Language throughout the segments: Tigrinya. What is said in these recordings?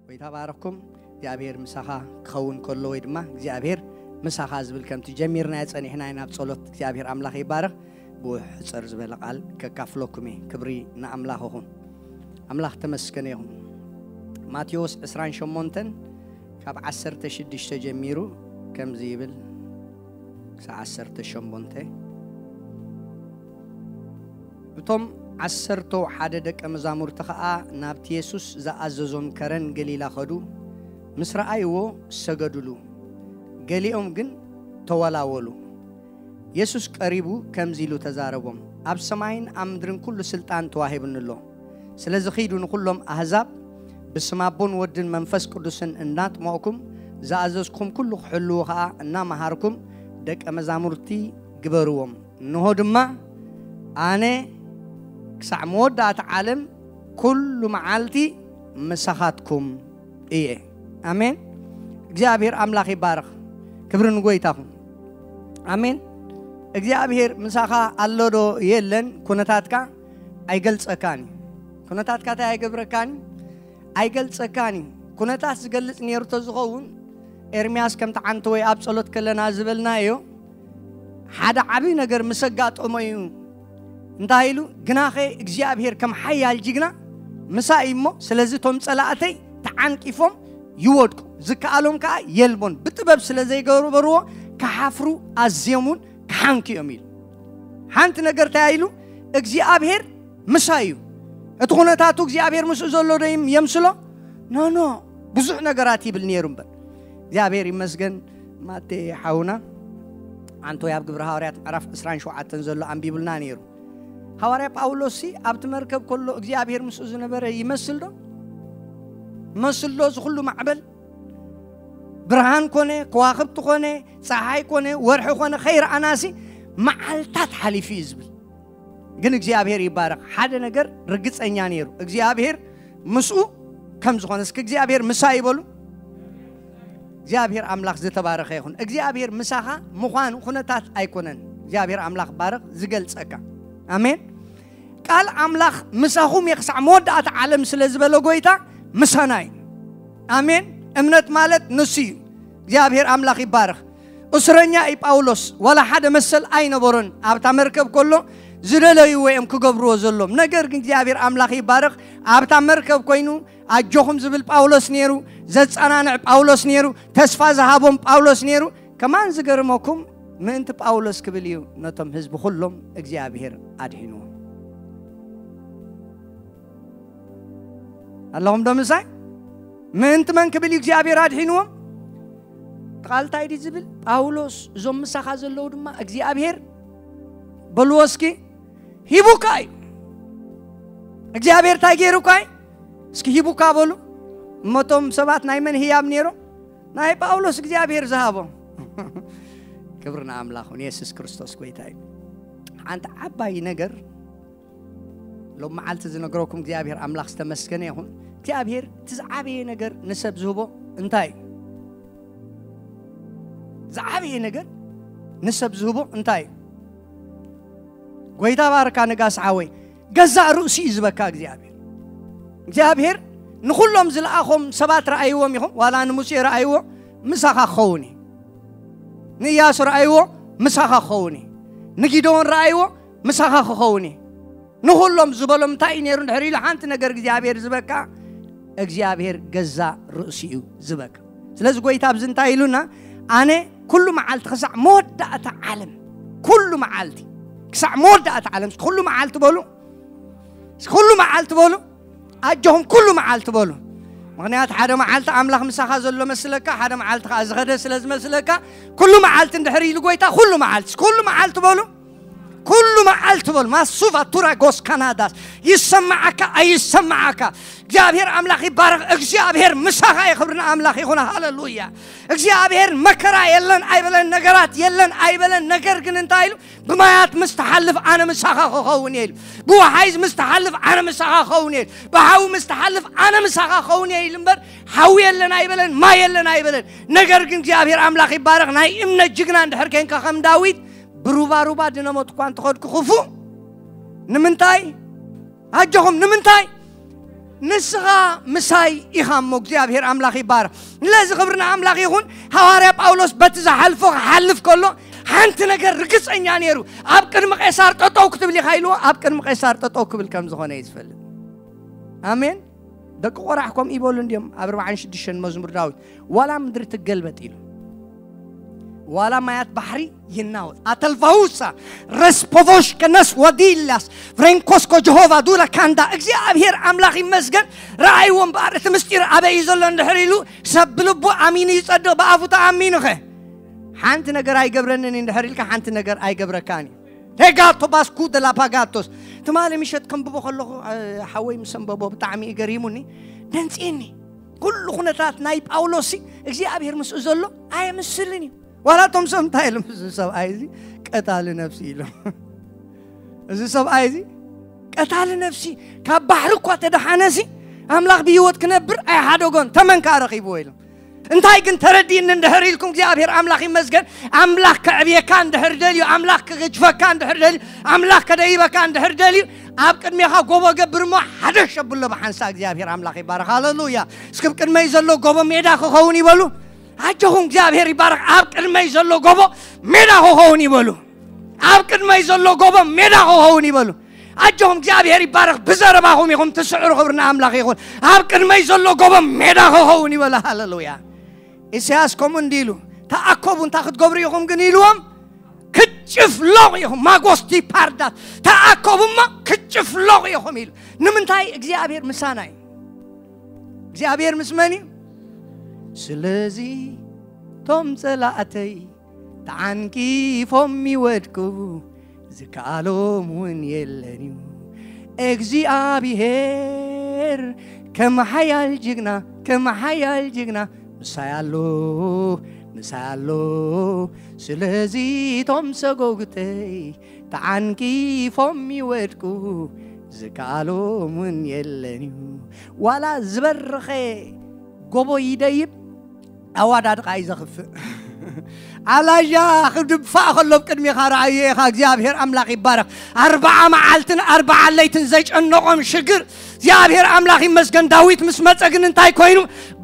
ጎይታ ባረኩም። እግዚኣብሔር ምሳኻ ክኸውን ከሎ ወይ ድማ እግዚኣብሔር ምሳኻ ዝብል ከምቲ ጀሚርናዮ ጸኒሕና ኢና ኣብ ጸሎት። እግዚኣብሔር ኣምላኽ ይባረኽ። ብውሕጽር ዝበለ ቃል ከካፍለኩም እየ። ክብሪ ንኣምላኽ ይኹን። ኣምላኽ ተመስገነ ይኹን። ማቴዎስ ዕስራን ሸሞንተን ካብ ዓሰርተ ሽዱሽተ ጀሚሩ ከምዚ ይብል ክሳብ ዓሰርተ ሸሞንተ። እቶም ዓሰርተው ሓደ ደቀ መዛሙርቲ ኸኣ ናብቲ የሱስ ዝኣዘዞም ከረን ገሊላ ኸዱ፣ ምስ ረኣይዎ ሰገዱሉ። ገሊኦም ግን ተወላወሉ። የሱስ ቀሪቡ ከምዚ ኢሉ ተዛረቦም፣ ኣብ ሰማይን ኣብ ምድርን ኩሉ ስልጣን ተዋሂቡኒ ኣሎ። ስለዚ ኺዱ ንኹሎም ኣህዛብ ብስም ኣቦን ወድን መንፈስ ቅዱስን እናጥመቕኩም ዝኣዘዝኩም ኩሉ ክሕልዉ ኸኣ እናመሃርኩም ደቀ መዛሙርቲ ግበርዎም። እንሆ ድማ ኣነ ክሳዕ መወዳእታ ዓለም ኩሉ መዓልቲ ምሳኻትኩም እየ። ኣሜን። እግዚኣብሔር ኣምላኽ ይባረኽ። ክብሪ ንጎይታኹም። ኣሜን። እግዚኣብሔር ምሳኻ ኣሎዶ የለን? ኩነታትካ ኣይገልጸካን እዩ። ኩነታትካ እንታይ ኣይገብረካን እዩ? ኣይገልጸካን እዩ። ኩነታት ዝገልጽ ነይሩ ተዝኸውን ኤርምያስ ከምቲ ዓንተ ወይ ኣብ ጸሎት ከለና ዝበልናዮ ሓደ ዓብዪ ነገር ምስ ኣጋጠሞ እዩ። እንታይ ኢሉ? ግናኸ እግዚኣብሔር ከም ሓያል ጅግና ምሳይ እሞ፣ ስለዚ እቶም ጸላእተይ ተዓንቂፎም ይወድቁ፣ ዝከኣሎም ከኣ የልቦን። ብጥበብ ስለ ዘይገበርዎ ክሓፍሩ ኣዝዮም እውን ክሓንኩ እዮም ኢሉ። ሓንቲ ነገር እንታይ ኢሉ? እግዚኣብሔር ምሳይ እዩ። እቲ ኩነታቱ እግዚኣብሔር ምስኡ ዘሎ ዶ ይም- የምስሎ? ኖ ኖ። ብዙሕ ነገራት ይብል ነይሩ እምበር። እግዚኣብሔር ይመስገን። ማቴ ሓውና ኣንቶይ ኣብ ግብሪ ሃዋርያት ምዕራፍ ዕስራን ሸውዓተን ዘሎ ኣንቢቡልና ነይሩ። ሃዋርያ ጳውሎስ ሲ ኣብቲ መርከብ ከሎ እግዚኣብሔር ምስኡ ዝነበረ ይመስል ዶ? መስል ዶ? እዚ ኩሉ ማዕበል ብርሃን ኮነ፣ ከዋኽብቲ ኮነ፣ ፀሓይ ኮነ፣ ወርሒ ኮነ ከይረኣናሲ መዓልታት ሓሊፉ እዩ ዝብል። ግን እግዚኣብሔር ይባረኽ። ሓደ ነገር ርግፀኛ ነይሩ፣ እግዚኣብሔር ምስኡ ከም ዝኾነ። እስኪ እግዚኣብሔር ምሳ ይበሉ። እግዚኣብሔር ኣምላኽ ዝተባረኸ ይኹን። እግዚኣብሔር ምሳኻ ምዃኑ ኩነታት ኣይኮነን። እግዚኣብሔር ኣምላኽ ባረኽ ዝገልጸካ። ኣሜን። ቃል ኣምላኽ ምሳኹም እየ ክሳዕ መወዳእታ ዓለም ስለ ዝበለ ጎይታ ምሳና እዩ። ኣሜን። እምነት ማለት ንሱ እዩ። እግዚኣብሔር ኣምላኽ ይባረኽ። እስረኛ እዩ ጳውሎስ፣ ዋላ ሓደ መሰል ኣይነበሮን። ኣብታ መርከብ ከሎ ዝደለይዎ እዮም ክገብርዎ ዘሎም። ነገር ግን እግዚኣብሔር ኣምላኽ ይባረኽ። ኣብታ መርከብ ኮይኑ ኣጆኹም ዝብል ጳውሎስ ነይሩ፣ ዘጸናንዕ ጳውሎስ ነይሩ፣ ተስፋ ዝሃቦም ጳውሎስ ነይሩ። ከማን ዝገርመኩም ምእንቲ ጳውሎስ ክብል እዩ ነቶም ህዝቢ ኩሎም እግዚኣብሔር ኣድሒንዎም። ኣለኹም ዶ ምሳይ? ምእንቲ መን ክብል እዩ እግዚኣብሔር ኣድሒንዎም? ቃል እንታይ ድዩ ዝብል? ጳውሎስ፣ እዞም ምሳኻ ዘለዉ ድማ እግዚኣብሔር በልዎ እስኪ ሂቡካ እዩ። እግዚኣብሔር እንታይ ገይሩካ እዩ? እስኪ ሂቡካ በሉ። እሞ እቶም ሰባት ናይ መን ህያብ ነይሮም? ናይ ጳውሎስ እግዚኣብሔር ዝሃቦም። ክብሪ ንኣምላኽ ይኹን። የሱስ ክርስቶስ ጎይታ እዩ። ሓንቲ ዓባይ ነገር ሎም መዓልቲ ዝነግረኩም እግዚኣብሔር ኣምላኽ ዝተመስገነ ይኹን። እግዚኣብሔር እቲ ዝዓበየ ነገር ንሰብ ዝህቦ እንታይ እዩ? ዝዓበየ ነገር ንሰብ ዝህቦ እንታይ እዩ? ጎይታ ባርካ ነጋስ ሓወይ፣ ገዛእ ርእሱ እዩ ዝበካ እግዚኣብሔር። እግዚኣብሔር ንኹሎም ዝለኣኾም ሰባት ረኣይዎም ኢኹም፣ ዋላ ንሙሴ ረኣይዎ፣ ምሳኻ ክኸውን እዩ። ንእያሱ ረኣይዎ፣ ምሳኻ ክኸውን እዩ። ንጊደዎን ረኣይዎ፣ ምሳኻ ክኸውን እዩ። ንኹሎም ዝበሎም እንታይ እዩ ነይሩ? እንድሕር ኢሉ ሓንቲ ነገር እግዚኣብሔር ዝበካ፣ እግዚኣብሔር ገዛ ርእሱ እዩ ዝበካ። ስለዚ ጎይታ ኣብዚ እንታይ ኢሉና? ኣነ ኩሉ መዓልቲ ክሳዕ መወዳእታ ዓለም፣ ኩሉ መዓልቲ ክሳዕ መወዳእታ ዓለም፣ እስኪ ኩሉ መዓልቲ በሉ፣ እስኪ ኩሉ መዓልቲ በሉ፣ ኣጆኹም ኩሉ መዓልቲ በሉ። ምኽንያቱ ሓደ መዓልቲ ኣምላኽ ምሳኻ ዘሎ መስለካ፣ ሓደ መዓልቲ ከዓ ዝኸደ ስለ ዝመስለካ፣ ኩሉ መዓልቲ እንድሕር ኢሉ ጎይታ፣ ኩሉ መዓልቲ፣ እስኪ ኩሉ መዓልቲ በሉ። ኩሉ መዓልቲ በሉ ማሱቫ ቱራ ጎስ ካናዳስ ይሰማዓካ ኣይሰማዓካ እግዚኣብሔር ኣምላኽ ይባረኽ። እግዚኣብሔር ምሳኻ እዩ። ክብሪ ንኣምላኽ ይኹን። ሃሌሉያ። እግዚኣብሔር መከራ የለን ኣይበለን፣ ነገራት የለን ኣይበለን። ነገር ግን እንታይ ኢሉ? ብማያት ምስ ትሓልፍ ኣነ ምሳኻ ክኸውን እየ ኢሉ። ብወሓይዝ ምስ ትሓልፍ ኣነ ምሳኻ ክኸውን እየ ኢሉ። ብሓዊ ምስ ትሓልፍ ኣነ ምሳኻ ክኸውን እየ ኢሉ እምበር ሓዊ የለን ኣይበለን፣ ማይ የለን ኣይበለን። ነገር ግን እግዚኣብሔር ኣምላኽ ይባረኽ። ናይ እምነት ጅግና እንድሕር ኮንካ ከም ዳዊት ብሩባሩባ ድነሞት እኳ እንተኸድኩ ክፉእ ንምንታይ ኣጆኹም ንምንታይ ንስኻ ምሳይ ኢኻ እሞ እግዚኣብሔር ኣምላኽ ይባረኽ። ስለዚ ክብሪ ንኣምላኽ ይኹን። ሃዋርያ ጳውሎስ በቲ ዝሓልፎ ክሓልፍ ከሎ ሓንቲ ነገር ርግፀኛ ነይሩ። ኣብ ቅድሚ ቄሳር ጠጠው ክትብል ኢኻ ኢልዎ። ኣብ ቅድሚ ቄሳር ጠጠው ክብል ከም ዝኾነ እዩ ዝፈልጥ። ኣሜን። ደቂ ቆራሕ ከምኡ ይበሉ እንዲዮም ኣብ ኣርባዓን ሽዱሽተን መዝሙር ዳዊት ዋላ ምድሪ ትገልበጥ ኢሉ ዋላ ማያት ባሕሪ ይናወጥ ኣተልፋውሳ ረስፖቮሽ ከነስ ወዲላስ ፍሬንኮስኮ ጀሆቫ ዱላ ካንዳ እግዚኣብሔር ኣምላኽ ይመስገን። ረኣይዎ እምበኣር እቲ ምስጢር ኣበይ እዩ ዘሎ እንድሕር ኢሉ ሰብ ብልቡ ኣሚኑ ይጸድቕ ብኣፉ ተኣሚኑኸ ሓንቲ ነገር ኣይገብረንን እንድሕር ኢልካ ሓንቲ ነገር ኣይገብረካን እዩ። ሄጋቶ ባስኩ ደላፓጋቶስ ትማሊ ምሸት ከንብቦ ከለኹ ሓወይ ምስ ኣንበቦ ብጣዕሚ እዩ ገሪሙኒ። ደንፅኒ ኩሉ ኩነታት ናይ ጳውሎስ እግዚኣብሔር ምስኡ ዘሎ ኣየምስልን እዩ። ዋላ እቶም ሰብ እንታይ ኢሎም እዚ ሰብኣይ እዚ ቀታሊ ነፍሲ ኢሎም እዚ ሰብኣይ እዚ ቀታሊ ነፍሲ ካብ ባሕሪ እኳ ተደሓነሲ ኣምላኽ ብህይወት ክነብር ኣይሓደጎን ተመን ከዓ ረኺብዎ ኢሎም። እንታይ ግን ተረዲእኒ እንድሕር ኢልኩም እግዚኣብሔር ኣምላኽ ይመስገን። ኣምላኽ ከዕብየካ እንድሕር ደልዩ ኣምላኽ ክግጅፈካ እንድሕር ደልዩ ኣምላኽ ከደይበካ እንድሕር ደልዩ ኣብ ቅድሜኻ ጎቦ ገብር እሞ ሓደሽ ኣብሎ ብሓንሳ እግዚኣብሔር ኣምላኽ ይባረኽ። ሃሌሉያ። እስክብ ቅድመይ ዘሎ ጎቦ ሜዳ ክኸውን ይበሉ። ኣጆኹም እግዚኣብሔር ይባረኽ። ኣብ ቅድመይ ዘሎ ጎቦ ሜዳ ክኸውን ይበሉ። ኣብ ቅድመይ ዘሎ ጎቦ ሜዳ ክኸውን ይበሉ። ኣጆኹም እግዚኣብሔር ይባረኽ። ብዘረባኹም ኢኹም ትስዕሩ። ክብሪ ንኣምላኽ ይኹን። ኣብ ቅድመይ ዘሎ ጎቦ ሜዳ ክኸውን ይበሉ። ሃሌሉያ። ኢሳያስ ከምኡ እንዲ ኢሉ ተኣከቡ እንታይ ክትገብሩ ኢኹም ግን ኢልዎም ክጭፍሎቕ ኢኹም ማጎስቲ ፓርዳት ተኣከቡ እሞ ክጭፍሎቕ ኢኹም ኢሉ። ንምንታይ እግዚኣብሔር ምሳና እዩ። እግዚኣብሔር ምስ መን እዩ? ስለዚ ቶም ጸላእተይ ተዓንቂፎም ይወድቁ ዝከኣሎም እውን የለን እዩ። እግዚኣብሔር ከም ሓያል ጅግና ከም ሓያል ጅግና ምሳይ ኣሎ ምሳይ ኣሎ። ስለዚ ቶም ሰጎግተይ ተዓንቂፎም ይወድቁ ዝከኣሎም እውን የለን እዩ። ዋላ ዝበረኸ ጎቦ ይደይብ ኣዋዳድቓ እዩ ዘኽፍእ። ኣላያ ክድፋእ ከሎ ኣብ ቅድሜኻ ረኣዮ ኢኻ። እግዚኣብሔር ኣምላኽ ይባረኽ። ኣርባዓ መዓልትን ኣርባዓ ለይትን ዘጨነቖም ሽግር እግዚኣብሔር ኣምላኽ ይመስገን። ዳዊት ምስ መጸ ግን እንታይ ኮይኑ?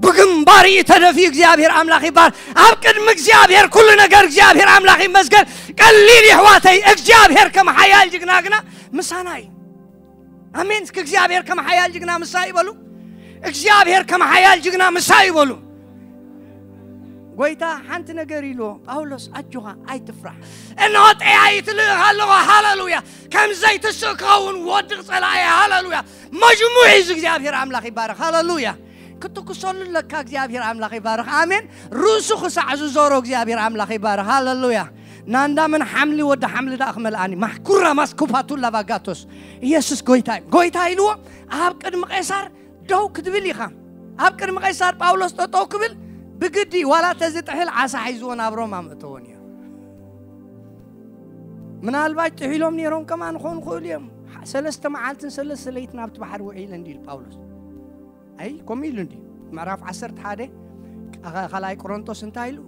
ብግንባር እዩ ተደፊኡ። እግዚኣብሔር ኣምላኽ ይባረኽ። ኣብ ቅድሚ እግዚኣብሔር ኩሉ ነገር እግዚኣብሔር ኣምላኽ ይመስገን። ቀሊል ይሕዋተይ እግዚኣብሔር ከም ሓያል ጅግና ግና ምሳና እዩ። ኣሜን። እስኪ እግዚኣብሔር ከም ሓያል ጅግና ምሳይ ይበሉ። እግዚኣብሔር ከም ሓያል ጅግና ምሳይ ይበሉ። ጎይታ ሓንቲ ነገር ኢልዎ ጳውሎስ ኣጆኻ ኣይትፍራሕ። እንሆ ጠያይት ልእኽ ኣለኹ። ሃሌሉያ። ከም ዘይትስእ ክኸውን ወድቕ ጸላኢ። ሃሌሉያ። መጅሙዕ እዩ እግዚኣብሔር ኣምላኽ ይባረኽ። ሃሌሉያ። ክትኩሰሉ ኣለካ እግዚኣብሔር ኣምላኽ ይባረኽ። ኣሜን። ርእሱ ክሳዕ ዝዞሮ እግዚኣብሔር ኣምላኽ ይባረኽ። ሃሌሉያ። ናንዳ ምን ሓምሊ ወዲ ሓምሊ ደኣ ክመልኣኒ ማሕኩራ ማስኩፓቱ ላቫጋቶስ ኢየሱስ ጎይታ እዩ። ጎይታ ኢልዎ ኣብ ቅድሚ ቄሳር ደው ክትብል ኢኻ። ኣብ ቅድሚ ቄሳር ጳውሎስ ጠጠው ክብል ብግዲ ዋላ ተዝጥሕል ዓሳ ሒዝዎ ናብ ሮማ ምእተዎ ነይሩ። ምናልባት ጥሒሎም ነይሮም ከማን ክኾኑ ክእሉ እዮም። ሰለስተ መዓልትን ሰለስተ ለይትን ኣብቲ ባሕሪ ውዒለ እንዲ ኢሉ ጳውሎስ። ኣይ ከምኡ ኢሉ እንዲ ምዕራፍ ዓሰርተ ሓደ ካልኣይ ቆሮንቶስ እንታይ ኢሉ?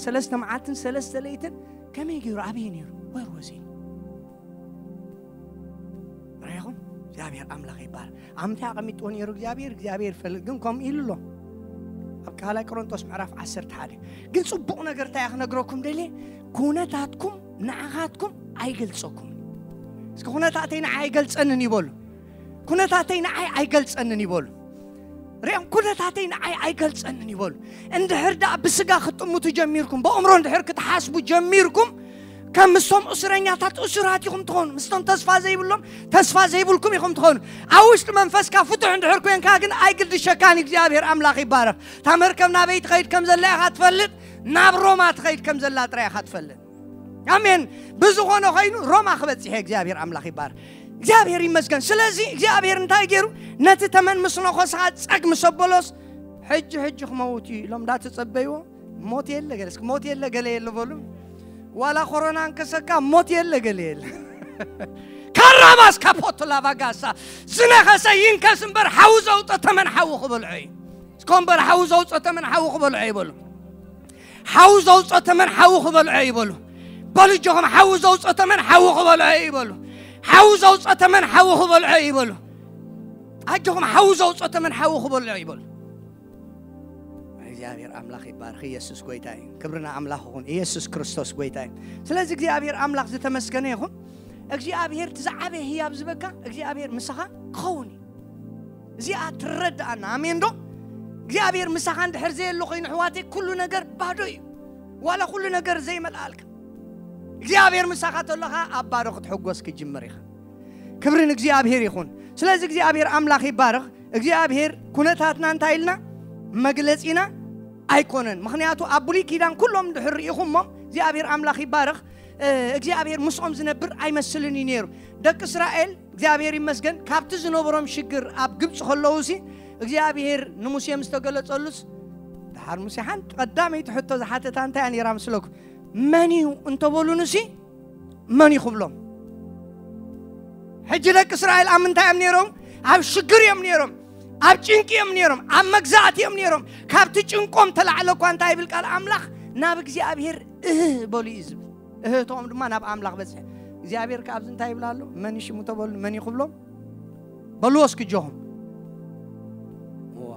ሰለስተ መዓልትን ሰለስተ ለይትን ከመይ ገይሩ ኣበይ ነይሩ? ወር ወዚ ርኢኹም እግዚኣብሔር ኣምላኽ ይባል ኣምታይ ኣቐሚጥዎ ነይሩ እግዚኣብሔር እግዚኣብሔር ይፈልጥ ግን ከምኡ ኢሉ ኣሎ። ኣብ ካልኣይ ቆሮንቶስ ምዕራፍ ዓሰርተ ሓደ ግን ፅቡቕ ነገር እንታይ ክነግረኩም ደልየ ኩነታትኩም ንዓኻትኩም ኣይገልፀኩም። እስኪ ኩነታተይ ንዓይ ኣይገልፀንን ይበሉ። ኩነታተይ ንዓይ ኣይገልፀንን ይበሉ። ሪኦም ኩነታተይ ንዓይ ኣይገልፀንን ይበሉ። እንድሕር ደኣ ብስጋ ክትጥምቱ ጀሚርኩም ብእምሮ እንድሕር ክትሓስቡ ጀሚርኩም ከም ምስቶም እስረኛታት እሱራት ኢኹም ትኾኑ። ምስቶም ተስፋ ዘይብሎም ተስፋ ዘይብልኩም ኢኹም ትኾኑ። ኣብ ውሽጢ መንፈስካ ፍቱሕ እንድሕር ኮንካ ግን ኣይግድሸካን። እግዚኣብሔር ኣምላኽ ይባረኽ። እታ መርከብ ናበይ ትኸይድ ከም ዘላ ኢኻ ትፈልጥ። ናብ ሮማ ትኸይድ ከም ዘላ ጥራይ ኢኻ ትፈልጥ። ኣሜን። ብዝኾነ ኮይኑ ሮማ ክበጽሕ እየ። እግዚኣብሔር ኣምላኽ ይባር። እግዚኣብሔር ይመስገን። ስለዚ እግዚኣብሔር እንታይ ገይሩ? ነቲ ተመን ምስ ነኾስኻ ጸግ ምስ ኣበሎስ፣ ሕጂ ሕጂ ክመውት እዩ ኢሎም እንዳተጸበይዎ፣ ሞት የለ ገለ፣ እስኪ ሞት የለ ገለ የለ በሉ። ዋላ ኮሮና እንከሰካ ሞት የለ ገለ የለ። ካራባስ ካፖቶ ላቫጋሳ፣ ዝነኸሰ ይንከስ እምበር ሓዊ ዘውፀ ተመን ሓዊ ክበልዖ እዩ። እስኮ እምበር ሓዊ ዘውፀ ተመን ሓዊ ክበልዖ ይበሉ። ሓዊ ዘውፀ ተመን ሓዊ ክበልዖ ይበሉ። በሉ እጆኹም፣ ሓዊ ዘውፀ ተመን ሓዊ ክበልዖ ይበሉ። ሓዊ ዘውፀ ተመን ሓዊ ክበልዖ ይበሉ። ኣጆኹም፣ ሓዊ ዘውፀ ተመን ሓዊ ክበልዖ ይበሉ። እግዚኣብሔር ኣምላኽ ይባርኽ። ኢየሱስ ጎይታ እዩ። ክብርና ኣምላኽ ይኹን። ኢየሱስ ክርስቶስ ጎይታ እዩ። ስለዚ እግዚኣብሔር ኣምላኽ ዝተመስገነ ይኹን። እግዚኣብሔር እቲ ዝዓበየ ህያብ ዝበካ እግዚኣብሔር ምሳኻ ክኸውን እዩ። እዚኣ ትረዳኣና። ኣሜን ዶ? እግዚኣብሔር ምሳኻ እንድሕር ዘየሎ ኮይኑ፣ ኣሕዋተይ፣ ኩሉ ነገር ባዶ እዩ። ዋላ ኩሉ ነገር ዘይመልኣልካ፣ እግዚኣብሔር ምሳኻ ተሎኻ ኣብ ባዶ ክትሕጎስ ክጅምር ኢኻ። ክብሪ ንእግዚኣብሔር ይኹን። ስለዚ እግዚኣብሔር ኣምላኽ ይባረኽ። እግዚኣብሔር ኩነታትና እንታይ ኢልና መግለጺና ኣይኮነን። ምኽንያቱ ኣብ ብሉይ ኪዳን ኩሎም እንድሕር ርኢኹሞም፣ እግዚኣብሔር ኣምላኽ ይባረኽ፣ እ፣ እግዚኣብሔር ምስኦም ዝነብር ኣይመስልን እዩ ነይሩ። ደቂ እስራኤል እግዚኣብሔር ይመስገን ካብቲ ዝነበሮም ሽግር ኣብ ግብፂ ከለዉ ሲ እግዚኣብሔር ንሙሴ ምስ ተገለጸሉስ፣ ደሓር ሙሴ ሓንቲ ቀዳመይቲ ሕቶ ዝሓተታ እንታይ እያ ነይራ ምስለኩም? መን እዩ እንተበሉንሲ መን እዩ ክብሎም? ሕጂ ደቂ እስራኤል ኣብ ምንታይ እዮም ነይሮም? ኣብ ሽግር እዮም ነይሮም። ኣብ ጭንቂ እዮም ነይሮም። ኣብ መግዛእቲ እዮም ነይሮም። ካብቲ ጭንቆም ተላዕለ እኳ እንታይ ይብል ቃል ኣምላኽ? ናብ እግዚኣብሔር እህ በሉ እዩ ዝብል። እህቶም ድማ ናብ ኣምላኽ በጽሐ። እግዚኣብሔር ከ ኣብዚ እንታይ ይብል ኣሎ? መን እዩ ሽሙ ተበሉ? መን እዩ ክብሎም? በልዎ እስኪ እጆኹም። እዋ።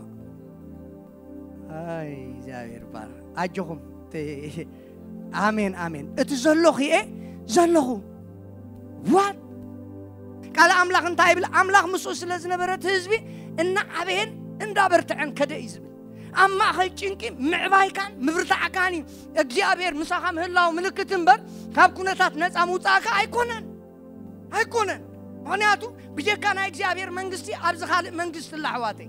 ኣይ እግዚኣብሔር ባር። ኣጆኹም። ተ-፣ ኣሜን፣ ኣሜን። እቲ ዘሎ ክኤ ዘለኹ። ዋት? ቃል ኣምላኽ እንታይ ይብል? ኣምላኽ ምስኡ ስለ ዝነበረ እቲ ህዝቢ እናዓበየን እንዳበርትዐን ከደ እዩ ዝብል። ኣብ ማእኸል ጭንቂ ምዕባይካን ምብርታዕካን እዩ እግዚኣብሔር ምሳኻ ምህላው ምልክት እምበር፣ ካብ ኩነታት ነፃ ምውፃእካ ኣይኮነን። ኣይኮነን። ምኽንያቱ ብጀካ ናይ እግዚኣብሔር መንግስቲ ኣብዚ ካልእ መንግስቲ ኣላ፣ ኣሕዋተይ።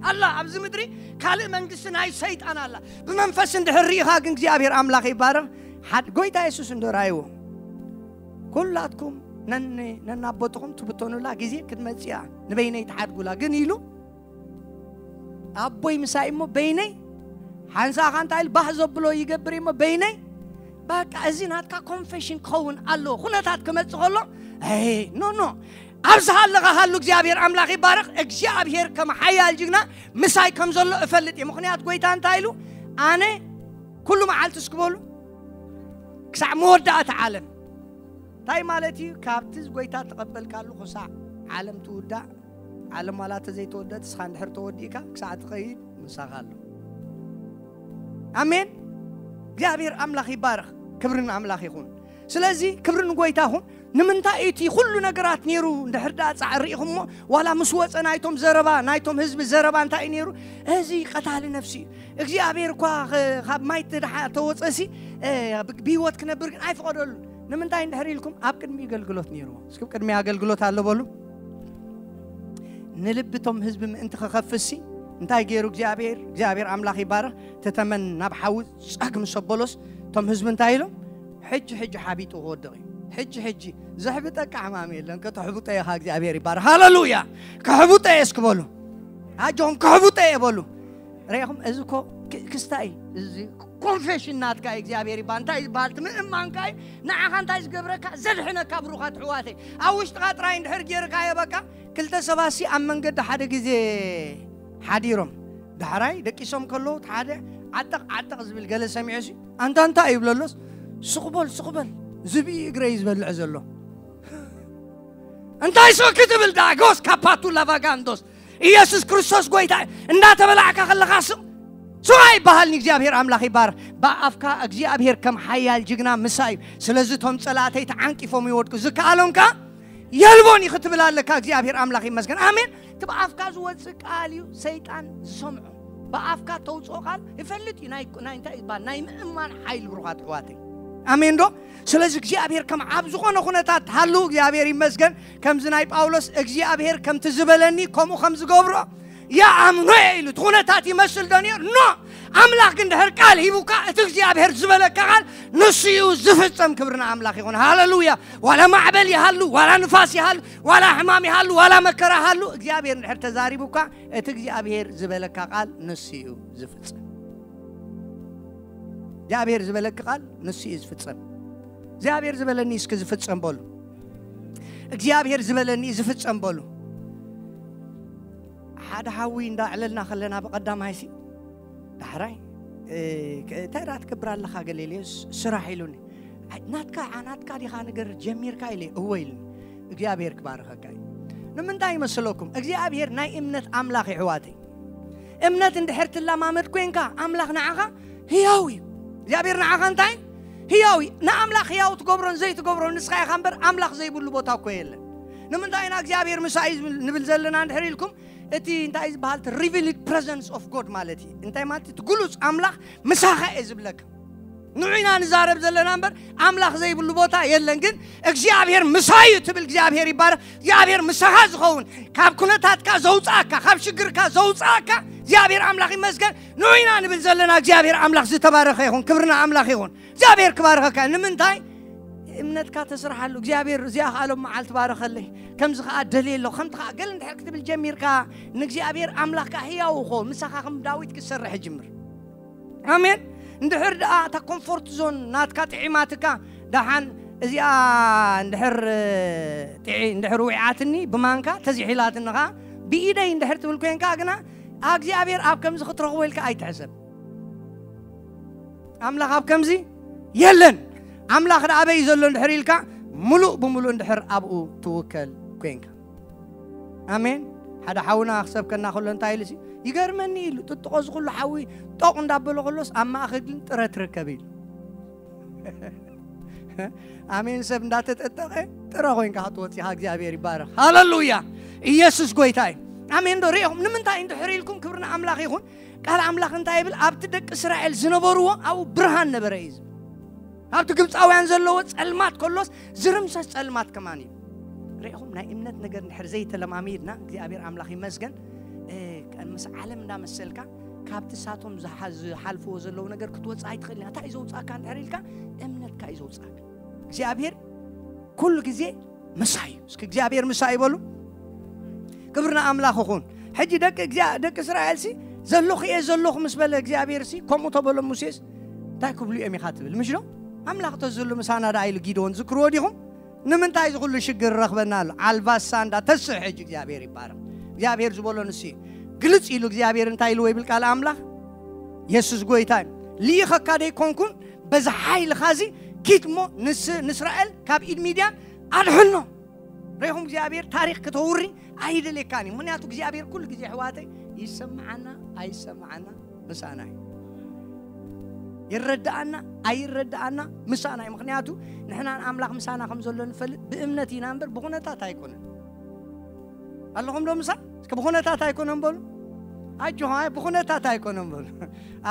ኣላ፣ ኣብዚ ምድሪ ካልእ መንግስቲ ናይ ሰይጣን ኣላ። ብመንፈስ እንድሕር ርኢኻ ግን እግዚኣብሔር ኣምላኽ ይባረኽ። ሓድ ጎይታ የሱስ እንዶ ራእይዎ፣ "ኩላትኩም ነን-፣ ነናቦትኹም ትብተኑላ ግዜ ክትመጽእ እያ፣ ንበይነይ ትሓድጉላ ግን" ኢሉ፣ "ኣቦይ ምሳይ እሞ በይነይ ሓንሳኻ እንታይ ኢሉ ባህ ዘብሎ ይገብር እሞ በይነይ"። በቃ እዚ ናትካ ኮንፌሽን ክኸውን ኣለዎ። ኩነታት ክመጽእ ከሎ፣ "ኣይ፣ ኖ፣ ኖ፣ ኣብዚ ሃለኻ ሃሉ እግዚኣብሔር ኣምላኽ ይባረኽ። እግዚኣብሔር ከም ሓያል ጅግና ምሳይ ከም ዘሎ እፈልጥ እየ። ምኽንያት ጎይታ እንታይ ኢሉ? ኣነ ኩሉ መዓልቲ እስኪ በሉ ክሳዕ መወዳእታ ዓለም።" እንታይ ማለት እዩ? ካብቲ ጎይታ ተቐበልካሉ ክሳዕ ዓለም ትውዳእ፣ ዓለም ዋላ እንተ ዘይተወደት፣ እስኻ እንድሕር ተወዲእካ ክሳዕ ትኸይድ ምሳኻ ኣሎ። ኣሜን። እግዚኣብሔር ኣምላኽ ይባረኽ። ክብሪ ንኣምላኽ ይኹን። ስለዚ ክብሪ ንጎይታ ይኹን። ንምንታይ እቲ ኩሉ ነገራት ነይሩ እንድሕር ደኣ ጻዕሪ ኢኹሞ፣ ዋላ ምስ ወጸ ናይቶም ዘረባ፣ ናይቶም ህዝቢ ዘረባ እንታይ እዩ ነይሩ? እዚ ቀታሊ ነፍሲ እዩ። እግዚኣብሔር እኳ ኸ-፣ ካብ ማይ ተድሓ-፣ ተወጸሲ፣ እ፣ ብ-፣ ብህይወት ክነብር ግን ኣይፈቐደሉ። ንምንታይ እንድሕር ኢልኩም ኣብ ቅድሚ ኣገልግሎት ነይርዎ። እስኪ ቅድሚ ኣገልግሎት ኣሎ በሉ። ንልቢ እቶም ህዝቢ ምእንቲ ክኸፍሲ እንታይ ገይሩ እግዚኣብሔር? እግዚኣብሔር ኣምላኽ ይባረኽ። ተተመን ናብ ሓዊ ጸግ ምስ ኣበሎስ እቶም ህዝቢ እንታይ ኢሎም? ሕጂ ሕጂ ሓቢጡ ክወድቕ እዩ። ሕጂ ሕጂ ዘሕብጠካ ሕማም የለን፣ ከተሕብጦ ኢኻ። እግዚኣብሔር ይባረኽ። ሃሌሉያ። ከሕብጦ እየ እስኪ በሉ። ኣጆኹም ከሕብጦ እየ በሉ። ርኢኹም፣ እዚ እኮ ክ-፣ ክስታይ፣ እዚ ኮንፌሽን ናትካ እዩ። እግዚኣብሔር ይባል። እንታይ ይባል? እቲ ምእማንካ እዩ። ንዓኻ እንታይ ዝገብረካ? ዘድሕነካ። ብሩኻት ኣሕዋተይ፣ ኣብ ውሽጥኻ ጥራይ እንድሕር ገይርካዮ፣ በቃ፣ ክልተ ሰባትሲ ኣብ መንገዲ ሓደ ግዜ ሓዲሮም፣ ዳሕራይ ደቂሶም ከለዉ፣ እቲ ሓደ ዓጠቕ ዓጠቕ ዝብል ገለ ሰሚዑ ሲ፣ "ኣንታ እንታይ?" ይብለሎስ፣ "ስቕ በል፣ ስቕ በል፣ ዝብኢ እግረይ ዝበልዕ ዘሎ." እንታይ ሶኪ ትብል ዳጎስ ካፓቱ ላቫጋንዶስ? ኢየሱስ ክርስቶስ ጎይታ እዩ። እንዳተበላዕካ ከለኻ ስቕ፣ ስቕ ኣይበሃልን። እግዚኣብሔር ኣምላኽ ይባረኽ። ብኣፍካ እግዚኣብሔር ከም ሓያል ጅግና ምሳይ እዩ። ስለዚ እቶም ጸላእተይ ተዓንቂፎም ይወድቁ፣ ዝከኣሎም ከኣ የልቦን እዩ ክትብል ኣለካ። እግዚኣብሔር ኣምላኽ ይመስገን። ኣሜን። እቲ ብኣፍካ ዝወጽእ ቃል እዩ ሰይጣን ዝሰምዖ። ብኣፍካ ተውፅኦ ቃል ይፈልጥ እዩ። ናይ፣ ናይ እንታይ ይባል? ናይ ምእማን ሓይሊ፣ ብሩኻት ኣሕዋተይ። ኣሜን ዶ? ስለዚ እግዚኣብሔር ከም ኣብ ዝኾነ ኩነታት ሃሉ፣ እግዚኣብሔር ይመስገን። ከምዚ ናይ ጳውሎስ፣ "እግዚኣብሔር ከምቲ ዝበለኒ ከምኡ ከም ዝገብሮ ይኣምኖ እየ" ኢሉ። እቲ ኩነታት ይመስል ዶ ነይሩ? ኖ። ኣምላኽ ግን ድሕር ቃል ሂቡካ፣ እቲ እግዚኣብሔር ዝበለካ ቃል ንሱ እዩ ዝፍጸም። ክብርና ኣምላኽ ይኹን። ሃሌሉያ። ዋላ ማዕበል ይሃሉ፣ ዋላ ንፋስ ይሃሉ፣ ዋላ ሕማም ይሃሉ፣ ዋላ መከራ ይሃሉ፣ እግዚኣብሔር ድሕር ተዛሪቡካ፣ እቲ እግዚኣብሔር ዝበለካ ቃል ንሱ እዩ ዝፍጸም። እግዚኣብሔር ዝበለካ ቃል ንሱ እዩ ዝፍጸም። እግዚኣብሔር ዝበለኒ እስኪ ዝፍጸም በሉ። እግዚኣብሔር ዝበለኒ ዝፍጸም በሉ። ሓደ ሓዊ እንዳዕለልና ከለና ብቐዳማይ ሲ ዳሕራይ እንታይ ዳ ትገብር ኣለኻ ገለ ኢለዮ፣ ስራሕ ኢሉኒ። ናትካ ናትካ ዲኻ ነገር ጀሚርካ ኢለ እወ ኢሉኒ። እግዚኣብሔር ክባርኸካ እዩ። ንምንታይ ይመስለኩም? እግዚኣብሔር ናይ እምነት ኣምላኽ ይሕዋተይ። እምነት እንድሕር ትለማመድ ኮንካ ኣምላኽ ንዓኻ ህያው እዩ። እግዚኣብሔር ንዓኻ እንታይ ህያው እዩ። ንኣምላኽ ህያው ትገብሮን ዘይትገብሮን ንስኻ ኢኻ እምበር ኣምላኽ ዘይብሉ ቦታ እኮ የለን። ንምንታይ ኢና እግዚኣብሔር ምሳይ ንብል ዘለና እንድሕር ኢልኩም እቲ እንታይ ዝበሃል revealed presence of God ማለት እዩ። እንታይ ማለት እቲ ግሉጽ ኣምላኽ ምሳኻ እየ ዝብለካ። ንዑ ኢና ንዛረብ ዘለና እምበር ኣምላኽ ዘይብሉ ቦታ የለን። ግን እግዚኣብሔር ምሳይ እዩ ትብል እግዚኣብሔር ይባረኽ። እግዚኣብሔር ምሳኻ ዝኸውን ካብ ኩነታትካ ዘውፅኣካ ካብ ሽግርካ ዘውፅኣካ እግዚኣብሔር ኣምላኽ ይመስገን። ንዑ ኢና ንብል ዘለና እግዚኣብሔር ኣምላኽ ዝተባረኸ ይኹን። ክብርና ኣምላኽ ይኹን። እግዚኣብሔር ክባርኸካ። ንምንታይ እምነትካ ተስርሓሉ እግዚኣብሔር እዚኣ ከኣሎም መዓልቲ ባረኸለይ ከምዚ ከዓ ደልየ ኣለኹ ከምቲ ከዓ ገለ እንድሕር ክትብል ጀሚርካ ንእግዚኣብሔር ኣምላኽካ ህያው እኮ ምሳኻ ከም ዳዊት ክሰርሕ ይጅምር። ኣሜን። እንድሕር ደኣ እታ ኮምፎርት ዞን ናትካ ጥዒማትካ ደሓን እዚኣ እንድሕር ጥዒ እንድሕር ውዒዓትኒ ብማንካ ተዚሒላትኒ ከዓ ብኢደይ እንድሕር ትብል ኮንካ ግና እግዚኣብሔር ኣብ ከምዚ ክትረኽቦ ኢልካ ኣይትሕሰብ። ኣምላኽ ኣብ ከምዚ የለን። ኣምላኽ ደኣ ኣበይ ዘሎ እንድሕር ኢልካ ምሉእ ብምሉእ እንድሕር ኣብኡ ትውከል ኮንካ። ኣሜን። ሓደ ሓውና ክሰብከና ከሎ እንታይ ኢሉ ሲ ይገርመኒ ኢሉ ጥጥቆ ዝኩሉ ሓዊ ጦቕ እንዳበሎ ከሎስ ኣብ ማእኸል ግን ጥረ ትርከብ ኢሉ። ኣሜን። ሰብ እንዳተጠጠቐ ጥረ ኮይንካ ክትወፂኻ እግዚኣብሔር ይባረኽ። ሃለሉያ። ኢየሱስ ጎይታ እዩ። ኣሜን። ዶ ሪኢኹም ንምንታይ እንድሕር ኢልኩም ክብርና ኣምላኽ ይኹን። ቃል ኣምላኽ እንታይ ይብል ኣብቲ ደቂ እስራኤል ዝነበርዎ ኣብኡ ብርሃን ነበረ እዩ ዝብል። ኣብቲ ግብፃውያን ዘለዎ ፀልማት ከሎስ ዝርምሰስ ፀልማት ከማን እዩ። ርኢኹም ናይ እምነት ነገር እንድሕር ዘይተለማሚድና እግዚኣብሔር ኣምላኽ ይመስገን። ምስ ዓለም እንዳመሰልካ ካብቲ ሳቶም ዝሓልፍዎ ዘለዉ ነገር ክትወፅእ ኣይትኽእል ኢና እንታይ እዩ ዘውፅኣካ እንድሕር ኢልካ እምነትካ እዩ ዘውፅኣካ። እግዚኣብሔር ኩሉ ግዜ ምሳይ እዩ። እስኪ እግዚኣብሔር ምሳይ ይበሉ። ክብርና ኣምላኽ ይኹን። ሕጂ ደቂ እግዚኣብ- ደቂ እስራኤል ሲ ዘለኹ እየ ዘለኹ ምስ በለ እግዚኣብሔር ሲ ከምኡ ተበሎ ሙሴስ እንታይ ክብሉ እዮም ኢኻ ትብል ምሽ ዶ? ኣምላኽ ተዝህሉ ምሳና ደኣ ኢሉ ጊድዎን ዝክርዎ ዲኹም? ንምንታይ እዚ ኩሉ ሽግር ረኽበና ኣሎ? ዓልባሳ እንዳ ተስሕ ሕጂ እግዚኣብሔር ይባረኽ። እግዚኣብሔር ዝበሎ ንሱ እዩ። ግልጽ ኢሉ እግዚኣብሔር እንታይ ኢልዎ ይብል ቃል ኣምላኽ? የሱስ ጎይታ እዩ። ልኢኸካ ደይኮንኩን በዚ ሓይልኻ እዚ ኪድ እሞ ንስ- ንእስራኤል ካብ ኢድ ሚድያን ኣድሕኖ። ርኢኹም እግዚኣብሔር ታሪኽ ከተውሪ ኣይደልየካን እዩ። ምክንያቱ እግዚኣብሔር ኩሉ ግዜ ኣሕዋተይ ይሰምዓና ኣይሰምዓና ምሳና እዩ። ይረዳኣና ኣይረዳኣና ምሳና እዩ። ምክንያቱ ንሕና ንኣምላኽ ምሳና ከም ዘሎ ንፈልጥ ብእምነት ኢና እምበር ብኩነታት ኣይኮነን። ኣለኹም ዶ ምሳ? እስከ ብኩነታት ኣይኮነን በሉ። ኣጆኻ ብኩነታት ኣይኮነን በሉ።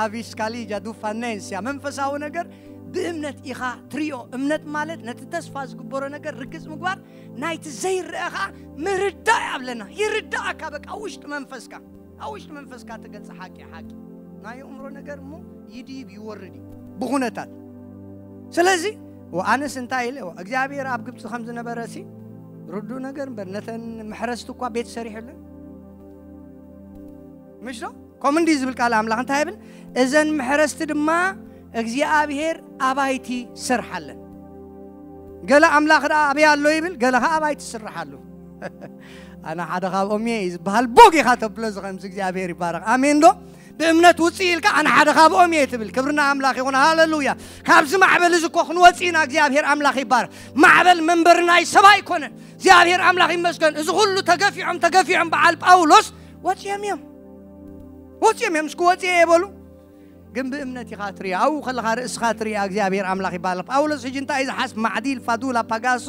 ኣቪስካሊጃ ዱፋኔንስያ መንፈሳዊ ነገር ብእምነት ኢኻ ትሪኦ። እምነት ማለት ነቲ ተስፋ ዝግበሮ ነገር ርግጽ ምግባር ናይቲ ዘይረአ ኸዓ ምርዳእ ኣለና። ይርዳእካ በቃ ውሽጢ መንፈስካ ኣብ ውሽጢ መንፈስካ ትገልጽ ሓቂ ሓቂ ናይ ኣእምሮ ነገር እሞ ይድይብ ይወርድ እዩ ብኹነታት። ስለዚ ኣነስ እንታይ ኢለ እግዚኣብሔር ኣብ ግብፂ ከም ዝነበረ ሲ ርዱ ነገር እምበር ነተን መሕረስቲ እኳ ቤት ሰሪሑለን ምሽ ዶ? ከምኡ እንዲ ዝብል ቃል ኣምላኽ እንታይ ይብል? እዘን መሕረስቲ ድማ እግዚኣብሔር ኣባይቲ ሰርሓለን። ገለ ኣምላኽ ደኣ ኣበይ ኣሎ ይብል፣ ገለ ኸዓ ኣባይቲ ስርሓሉ። ኣነ ሓደ ካብኦም እየ እዩ ዝበሃል። ቦግ ኢኻ ተብሎ እዚ ከምዚ እግዚኣብሔር ይባረኽ። ኣሜን ዶ? ብእምነት ውፅእ ኢልካ ኣነ ሓደ ካብኦም እየ ትብል። ክብርና ኣምላኽ ይኹን። ሃለሉያ። ካብዚ ማዕበል እዚ እኮ ክንወፅእ ኢና። እግዚኣብሔር ኣምላኽ ይባረኽ። ማዕበል መንበሪ ናይ ሰብ ኣይኮነን። እግዚኣብሔር ኣምላኽ ይመስገን። እዚ ኩሉ ተገፊዖም ተገፊዖም በዓል ጳውሎስ ወፅዮም እዮም። ወፅዮም እዮም። እስኪ ወፅየ የበሉ። ግን ብእምነት ኢኻ ትሪኦ። ኣብኡ ከለኻ ርእስኻ ትሪኦ። እግዚኣብሔር ኣምላኽ ይባረኽ። ጳውሎስ ሕጂ እንታይ እዩ ዝሓስብ? ማዕዲል ፋዱላ ፓጋሶ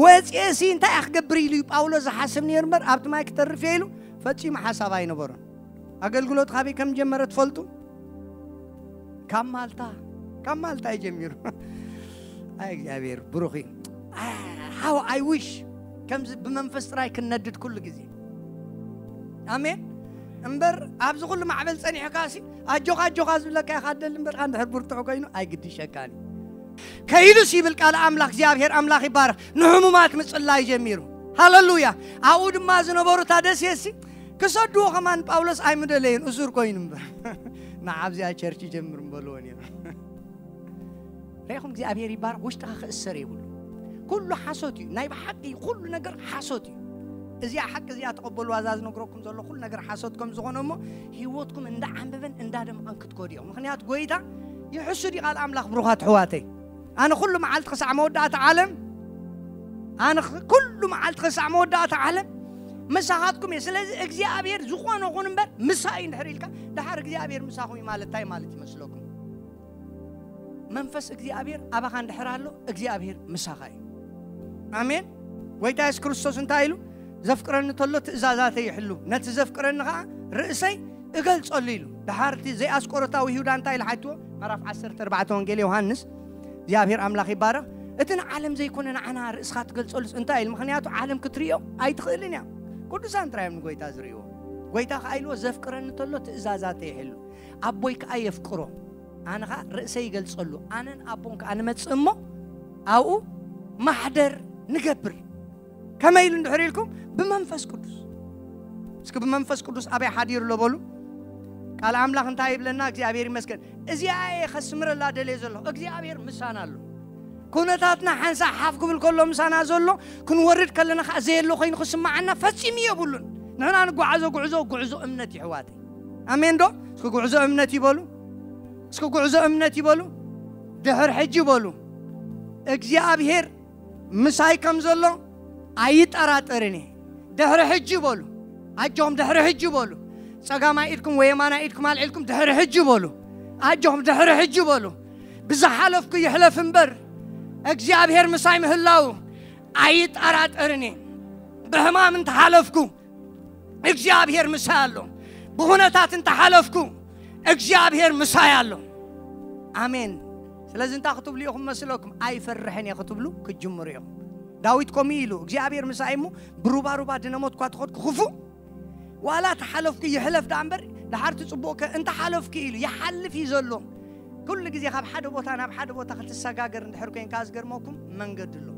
ወፅየ ሲ እንታይ እየ ክገብር ኢሉ እዩ ጳውሎስ ዝሓስብ ነይሩ እምበር ኣብቲ ማይ ክተርፍ እየ ኢሉ ፈጺሙ ሓሳብ ኣይነበሮን። ኣገልግሎት ካበይ ከም ጀመረ ትፈልጡ? ካብ ማልታ፣ ካብ ማልታ እዩ ጀሚሩ። ኣይ እግዚኣብሔር ብሩኽ እዩ። How I wish ከምዚ ብመንፈስ ጥራይ ክንነድድ ኩሉ ግዜ። ኣሜን። እምበር ኣብዚ ኩሉ ማዕበል ጸኒሕካ ሲ ኣጆኻ ኣጆኻ ዝብለካ ኢኻ ደሊ እምበር፣ እንድሕር ብርቱዕ ኮይኑ ኣይግድሸካን እዩ። ከይዱስ ይብል ቃል ኣምላኽ፣ እግዚኣብሔር ኣምላኽ ይባረኽ፣ ንሕሙማት ምጽላይ ጀሚሩ። ሃለሉያ። ኣብኡ ድማ ዝነበሩ እታ ደሴት ሲ ክሰድዎ ከማን ጳውሎስ ኣይምደለየን፣ እሱር ኮይኑ እምበር። ንዓብዚኣ ቸርች ይጀምር እምበልዎ ነይሩ። ርኢኹም እግዚኣብሔር ይባረኽ፣ ውሽጥኻ ክእሰር የብሉ። ኩሉ ሓሶት እዩ፣ ናይ ብሓቂ ኩሉ ነገር ሓሶት እዩ። እዚኣ ሓቂ እዚኣ ተቐበሉ፣ ዋዛ ዝነግረኩም ዘሎ ኩሉ ነገር ሓሶት ከም ዝኾነ እሞ ህይወትኩም እንዳዓንበበን እንዳደምቐን ክትከዱ እዮም። ምኽንያቱ ጎይታ ይሕሱ ድዩ ቃል ኣምላኽ? ብሩኻት ኣሕዋተይ፣ ኣነ ኩሉ መዓልቲ ክሳዕ መወዳእታ ዓለም፣ ኣነ ኽ- ኩሉ መዓልቲ ክሳዕ መወዳእታ ዓለም ምሳኻትኩም እየ። ስለዚ እግዚኣብሔር ዝኾነ ኹን እምበር ምሳይ እንድሕር ኢልካ፣ ደሓር እግዚኣብሔር ምሳኹም እዩ ማለት እንታይ ማለት ይመስለኩም? መንፈስ እግዚኣብሔር ኣባኻ እንድሕር ኣሎ እግዚኣብሔር ምሳኻ እዩ። ኣሜን። ጎይታ የሱስ ክርስቶስ እንታይ ኢሉ? ዘፍቅረኒ ተሎ ትእዛዛተይ ይሕሉ፣ ነቲ ዘፍቅረኒ ኸዓ ርእሰይ እገልጸሉ ኢሉ። ደሓር እቲ ዘይኣስቆሮታዊ ይሁዳ እንታይ ኢሉ ሓትዎ? ምዕራፍ ዓሰርተ ኣርባዕተ ወንጌል ዮሃንስ። እግዚኣብሔር ኣምላኽ ይባረኽ። እቲ ንዓለም ዘይኮነ ንዓና ርእስኻ ትገልጸሉስ እንታይ ኢሉ? ምኽንያቱ ዓለም ክትርእዮ ኣይትኽእልን እያ። ቅዱሳን ጥራይ እዮም ንጎይታ ዝርእይዎ። ጎይታ ኸዓ ኢልዎ ዘፍቅረኒ ተሎ ትእዛዛተይ ይሕሉ፣ ኣቦይ ከኣ የፍቅሮ፣ ኣነ ኸኣ ርእሰይ ይገልጸሉ፣ ኣነን ኣቦን ከኣ ንመጽእ እሞ ኣብኡ ማሕደር ንገብር። ከመይ ኢሉ እንድሕር ኢልኩም? ብመንፈስ ቅዱስ። እስኪ ብመንፈስ ቅዱስ ኣበይ ሓዲሩ ኣሎ በሉ። ቃል ኣምላኽ እንታይ ይብለና? እግዚኣብሔር ይመስገን። እዚኣ እየ ከስምረላ ደልየ ዘለኹ። እግዚኣብሔር ምሳና ኣሎ። ኩነታትና ሓንሳእ ሓፍ ክብል ከሎ ምሳና ዘሎ፣ ክንወርድ ከለና ከዓ ዘየሎ ኮይኑ ክስምዓና ፈጺሙ የብሉን። ንሕና ንጓዓዞ ጉዕዞ፣ ጉዕዞ እምነት ይሕዋተይ። ኣሜን ዶ? እስኪ ጉዕዞ እምነት ይበሉ። እስኪ ጉዕዞ እምነት ይበሉ። ድሕር ሕጂ በሉ። እግዚኣብሔር ምሳይ ከም ዘሎ ኣይጠራጠርን እየ። ድሕሪ ሕጂ በሉ። ኣጆኹም ድሕሪ ሕጂ በሉ። ጸጋማይ ኢድኩም ወይ የማናይ ኢድኩም ኣልዒልኩም ድሕሪ ሕጂ በሉ። ኣጆኹም ድሕሪ ሕጂ በሉ። ብዝሓለፍኩ ይሕለፍ እምበር እግዚኣብሔር ምሳይ ምህላው ኣይጠራጠርን እየ። ብሕማም እንተሓለፍኩ እግዚኣብሔር ምሳይ ኣሎ። ብኹነታት እንተሓለፍኩ እግዚኣብሔር ምሳይ ኣሎ። ኣሜን። ስለዚ እንታይ ክትብሉ ኢኹም መስለኩም? ኣይፈርሕን እየ ክትብሉ ክትጅምሩ ኢኹም። ዳዊት ከምኡ ኢሉ፣ እግዚኣብሔር ምሳይ እሞ ብሩባሩባ ድነሞት እኳ ተኸድኩ ክፉእ ዋላ ተሓለፍኩ ይሕለፍ ደኣ እምበር፣ ደሓር እቲ ጽቡቕ ከ እንተሓለፍኩ ኢሉ ይሓልፍ እዩ ዘሎ። ኩሉ ግዜ ካብ ሓደ ቦታ ናብ ሓደ ቦታ ክትሰጋገር እንድሕር ኮይንካ ዝገርመኩም መንገዲ ኣሎ።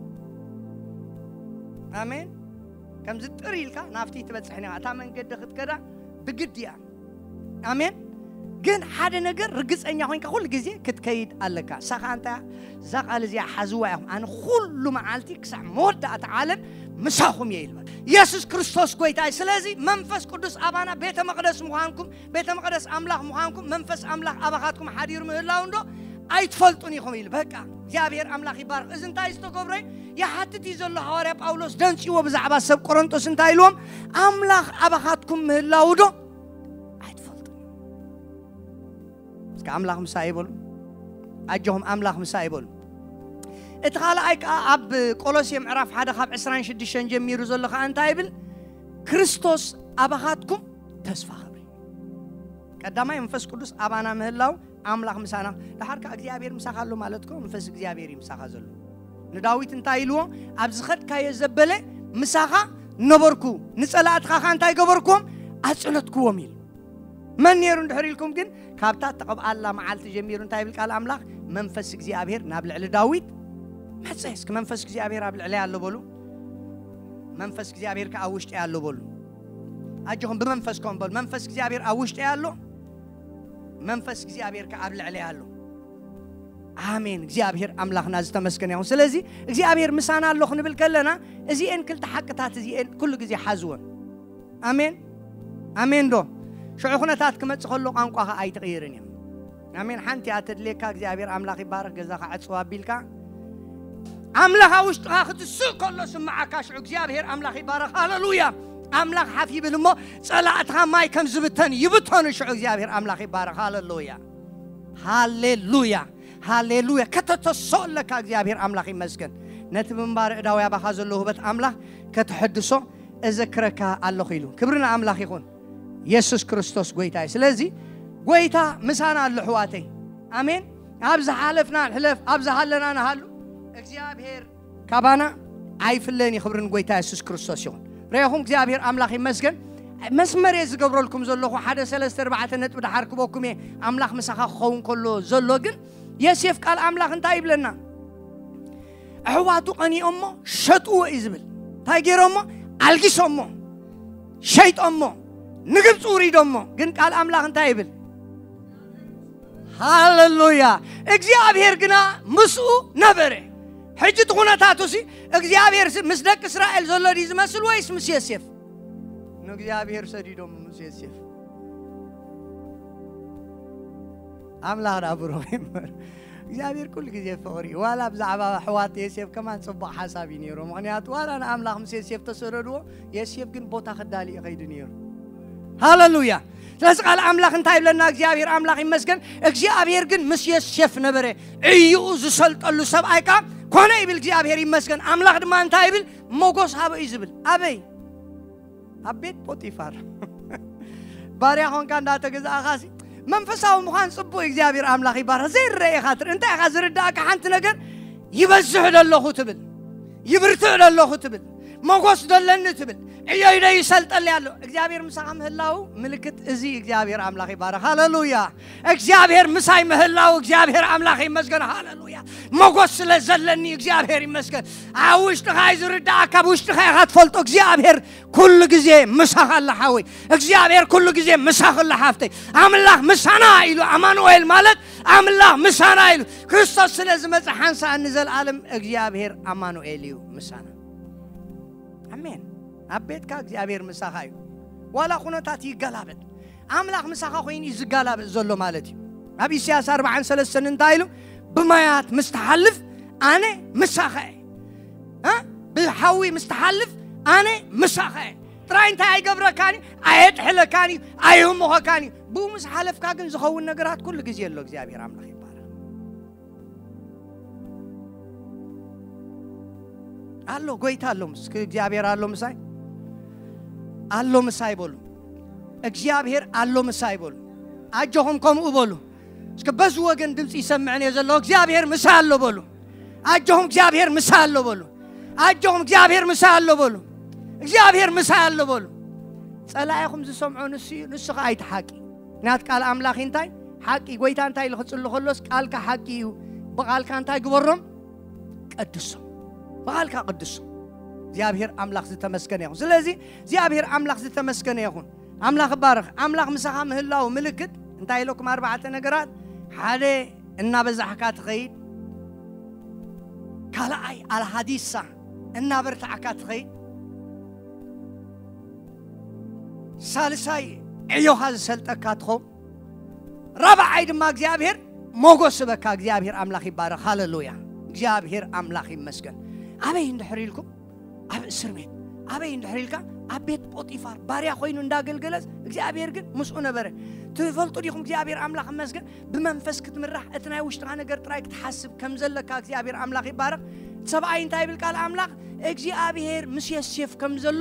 ኣሜን። ከምዚ ጥር ኢልካ ናብቲ ትበጽሕን ኢኻ። እታ መንገዲ ክትከዳ ብግድ እያ። ኣሜን። ግን ሓደ ነገር ርግጸኛ ኮይንካ ኩሉ ግዜ ክትከይድ ኣለካ። እሳ ኸኣ እንታይ እያ? እዛ ቃል እዚኣ ሓዝዋ ኢኹም። ኣነ ኩሉ መዓልቲ ክሳዕ መወዳእታ ዓለም ምሳኹም እየ ኢልበል። የሱስ ክርስቶስ ጎይታ እዩ። ስለዚ መንፈስ ቅዱስ ኣባና ቤተ መቕደስ ምዃንኩም፣ ቤተ መቕደስ ኣምላኽ ምዃንኩም፣ መንፈስ ኣምላኽ ኣባኻትኩም ሓዲሩ ምህላው እንዶ ኣይትፈልጡን ኢኹም ኢሉ። በቃ እግዚኣብሔር ኣምላኽ ይባርኽ። እዚ እንታይ ዝተገብረ እዩ? ይሓትት እዩ ዘሎ ሃዋርያ ጳውሎስ ደንጽዎ ብዛዕባ ሰብ ቆሮንቶስ እንታይ ኢልዎም? ኣምላኽ ኣባኻትኩም ምህላው ዶ ኣይትፈልጡን? እስከ ኣምላኽ ምሳይ ይበሉ። ኣጆኹም ኣምላኽ ምሳይ ይበሉ። እቲ ካልኣይ ከኣ ኣብ ቆሎሴ ምዕራፍ ሓደ ካብ ዕስራን ሽዱሽተን ጀሚሩ ዘሎ ከኣ እንታይ ይብል? ክርስቶስ ኣባኻትኩም ተስፋ ክብሪ። ቀዳማይ መንፈስ ቅዱስ ኣባና ምህላው ኣምላኽ ምሳና። ደሓር ከኣ እግዚኣብሔር ምሳኻ ኣሎ ማለት እኮ መንፈስ እግዚኣብሔር እዩ ምሳኻ ዘሎ። ንዳዊት እንታይ ኢልዎ? ኣብ ዝኸድካዮ ዘበለ ምሳኻ ነበርኩ፣ ንጸላእትኻ ከኣ እንታይ ገበርኩዎም? ኣጽነትኩዎም ኢሉ። መን ነይሩ እንድሕር ኢልኩም ግን፣ ካብታ እተቐብኣላ መዓልቲ ጀሚሩ እንታይ ይብል ቃል ኣምላኽ? መንፈስ እግዚኣብሔር ናብ ልዕሊ ዳዊት መጸ። እስኪ መንፈስ እግዚኣብሔር ኣብ ልዕለይ ኣሎ በሉ። መንፈስ እግዚኣብሔር ከኣ ኣብ ውሽጢ ኣሎ በሉ። ኣጆኹም ብመንፈስኩም በሉ። መንፈስ እግዚኣብሔር ኣብ ውሽጢ ኣሎ። መንፈስ እግዚኣብሔር ከኣ ኣብ ልዕለይ ኣሎ። ኣሜን። እግዚኣብሔር ኣምላኽና ዝተመስገነ ይኹን። ስለዚ እግዚኣብሔር ምሳና ኣሎ ክንብል ከለና እዚኤን ክልተ ሓቅታት እዚኤን ኩሉ ግዜ ሓዝወን። ኣሜን። ኣሜን ዶ? ሽዑ ኩነታት ክመጽእ ከሎ ቋንቋኻ ኣይትቕይርን እዮም። ኣሜን። ሓንቲ እያ ተድልየካ፣ እግዚኣብሔር ኣምላኽ ይባረኽ፣ ገዛኻ ዕጽው ኣቢልካ ኣምላኽ ኣብ ውሽጥኻ ክትስእ ከሎ ስምዓካ፣ ሽዑ እግዚኣብሔር ኣምላኽ ይባረኽ። ሃለሉያ። ኣምላኽ ሓፍ ይብል እሞ ጸላእትኻ ማይ ከም ዝብተን ይብተኑ። ሽዑ እግዚኣብሔር ኣምላኽ ይባረኽ። ሃለሉያ፣ ሃሌሉያ፣ ሃሌሉያ። ከተተስኦ ኣለካ። እግዚኣብሔር ኣምላኽ ይመስገን። ነቲ ምንባር እዳዊ ኣባኻ ዘሎ ውህበት ኣምላኽ ከተሐድሶ እዘክረካ ኣለኹ ኢሉ። ክብሪ ንኣምላኽ ይኹን። የሱስ ክርስቶስ ጎይታ እዩ። ስለዚ ጎይታ ምሳና ኣሎ ኣሕዋተይ። ኣሜን። ኣብ ዝሓለፍና ንሕለፍ፣ ኣብ ዝሃለና ንሃሉ፣ እግዚኣብሔር ካባና ኣይፍለን እዩ። ክብሪ ንጎይታ የሱስ ክርስቶስ ይኹን። ርኢኹም እግዚኣብሔር ኣምላኽ ይመስገን። መስመር እየ ዝገብረልኩም ዘለኹ። ሓደ ሰለስተ ኣርባዕተ ነጥቢ ድሓር ክበኩም እየ። ኣምላኽ ምሳኻ ክኸውን ከሎ ዘሎ ግን የሴፍ ቃል ኣምላኽ እንታይ ይብለና? ኣሕዋቱ ቀኒኦሞ ሸጥዎ እዩ ዝብል። እንታይ ገይሮሞ? ኣልጊሶሞ፣ ሸይጦሞ፣ ንግብፂ ውሪዶሞ። ግን ቃል ኣምላኽ እንታይ ይብል? ሃለሉያ። እግዚኣብሔር ግና ምስኡ ነበረ። ሕጂ እቲ ኩነታቱ ሲ እግዚኣብሔር ሲ ምስ ደቂ እስራኤል ዘሎ ድዩ ዝመስል ወይስ ምስ የሴፍ? ንእግዚኣብሔር ሰዲዶም ምስ የሴፍ። ኣምላኽ ደኣ ብሩኽ ይንበር። እግዚኣብሔር ኩሉ ግዜ ፍቕሪ እዩ። ዋላ ብዛዕባ ኣሕዋት የሴፍ ከማን ጽቡቕ ሓሳብ እዩ ነይሩ። ምኽንያቱ ዋላ ንኣምላኽ ምስ የሴፍ ተሰደድዎ፣ የሴፍ ግን ቦታ ክዳሊ እዩ ከይዱ ነይሩ። ሃለሉያ። ስለዚ ቃል ኣምላኽ እንታይ ይብለና? እግዚኣብሔር ኣምላኽ ይመስገን። እግዚኣብሔር ግን ምስ የሴፍ ነበረ። ዕይኡ ዝሰልጠሉ ሰብኣይ ከኣ ኮነ ይብል። እግዚኣብሔር ይመስገን። ኣምላኽ ድማ እንታይ ይብል? ሞጎስ ሃበ እዩ ዝብል። ኣበይ? ኣብ ቤት ፖጢፋር። ባርያ ኾንካ እንዳተገዛእኻሲ መንፈሳዊ ምዃን ጽቡቕ፣ እግዚኣብሔር ኣምላኽ ይባርኽ። ዘይረአ ኢኻ ትርኢ። እንታይ ኢኻ ዝርዳእካ? ሓንቲ ነገር ይበዝሕ ደለኹ ትብል፣ ይብርትዕ ደለኹ ትብል፣ መጎስ ደለኒ ትብል፣ ዕዮይ ዶ ይሰልጠለይ ኣሎ። እግዚኣብሔር ምሳኻ ምህላው ምልክት እዚ። እግዚኣብሔር ኣምላኽ ይባረኽ። ሃለሉያ። እግዚኣብሔር ምሳይ ምህላው እግዚኣብሔር ኣምላኽ ይመስገን። ሃለሉያ። መጎስ ስለ ዘለኒ እግዚኣብሔር ይመስገን። ኣብ ውሽጥኻ እዩ ዝርዳእካ፣ ኣብ ውሽጥኻ ኢኻ ትፈልጦ። እግዚኣብሔር ኩሉ ግዜ ምሳኻ ኣላ ሓወይ። እግዚኣብሔር ኩሉ ግዜ ምሳኺ ኣላ ሓፍተይ። ኣምላኽ ምሳና ኢሉ ኣማኑኤል ማለት ኣምላኽ ምሳና ኢሉ ክርስቶስ ስለ ዝመጸ ሓንሳእ ንዘለኣለም እግዚኣብሔር ኣማኑኤል እዩ ምሳና። ኣሜን። ኣብ ቤትካ እግዚኣብሔር ምሳኻ እዩ። ዋላ ኩነታት ይገላበጥ፣ ኣምላኽ ምሳኻ ኮይኑ እዩ ዝገላበጥ ዘሎ ማለት እዩ። ኣብ ኢሳያስ ኣርባዓን ሰለስተን እንታይ ኢሉ? ብማያት ምስ ትሓልፍ ኣነ ምሳኻ እየ። እ? ብሓዊ ምስ ትሓልፍ ኣነ ምሳኻ እየ። ጥራይ እንታይ ኣይገብረካን እዩ፣ ኣየጥሕለካን እዩ፣ ኣይህምኾካን እዩ። ብኡ ምስ ሓለፍካ ግን ዝኸውን ነገራት ኩሉ ግዜ ኣሎ። እግዚኣብሔር ኣምላኽ ይባረኽ። ኣሎ፣ ጎይታ ኣሎ። እስኪ እግዚኣብሔር ኣሎ ምሳይ፣ ኣሎ ምሳይ በሉ። እግዚኣብሔር ኣሎ ምሳይ በሉ። ኣጆኹም ከምኡ በሉ። እስኪ በዚ ወገን ድምፂ ይሰምዕን እየ ዘሎ። እግዚኣብሔር ምሳይ ኣሎ በሉ። ኣጆኹም እግዚኣብሔር ምሳይ ኣሎ በሉ። ኣጆኹም እግዚኣብሔር ምሳይ ኣሎ በሉ። እግዚኣብሔር ምሳይ ኣሎ በሉ። ጸላኢኹም ዝሰምዖ ንሱ እዩ፣ ንሱ ኸኣ ኣይትሓቂ። ናት ቃል ኣምላኽ እንታይ? ሓቂ። ጎይታ እንታይ ኢሉ ክጽሊ ከሎስ፣ ቃልካ ሓቂ እዩ። ብቓልካ እንታይ ግበሮም? ቀድሶም። ብቓልካ ቅድሶም። እግዚኣብሔር ኣምላኽ ዝተመስገነ ይኹን። ስለዚ እግዚኣብሔር ኣምላኽ ዝተመስገነ ይኹን። ኣምላኽ ይባረኽ። ኣምላኽ ምሳኻ ምህላው ምልክት እንታይ ኢለኩም? ኣርባዕተ ነገራት። ሓደ፣ እናበዛሕካ ትኸይድ። ካልኣይ፣ ኣልሃዲሳ፣ እናበርታዕካ ትኸይድ። ሳልሳይ፣ ዕዮኻ ዝሰልጠካ ትኸውን። ራብዓይ ድማ እግዚኣብሔር ሞጎስ በካ። እግዚኣብሔር ኣምላኽ ይባረኽ። ሃለሉያ። እግዚኣብሔር ኣምላኽ ይመስገን። ኣበይ እንድሕር ኢልኩም? ኣብ እስር ቤት። ኣበይ እንድሕር ኢልካ? ኣብ ቤት ጶጢፋር ባርያ ኮይኑ እንዳገልገለስ እግዚኣብሔር ግን ምስኡ ነበረ። ትፈልጡ ዲኹም? እግዚኣብሔር ኣምላኽ ይመስገን። ብመንፈስ ክትምራሕ፣ እቲ ናይ ውሽጥኻ ነገር ጥራይ ክትሓስብ ከም ዘለካ እግዚኣብሔር ኣምላኽ ይባረኽ። ሰብኣይ እንታይ ይብል ቃል ኣምላኽ? እግዚኣብሔር ምስ የሴፍ ከም ዘሎ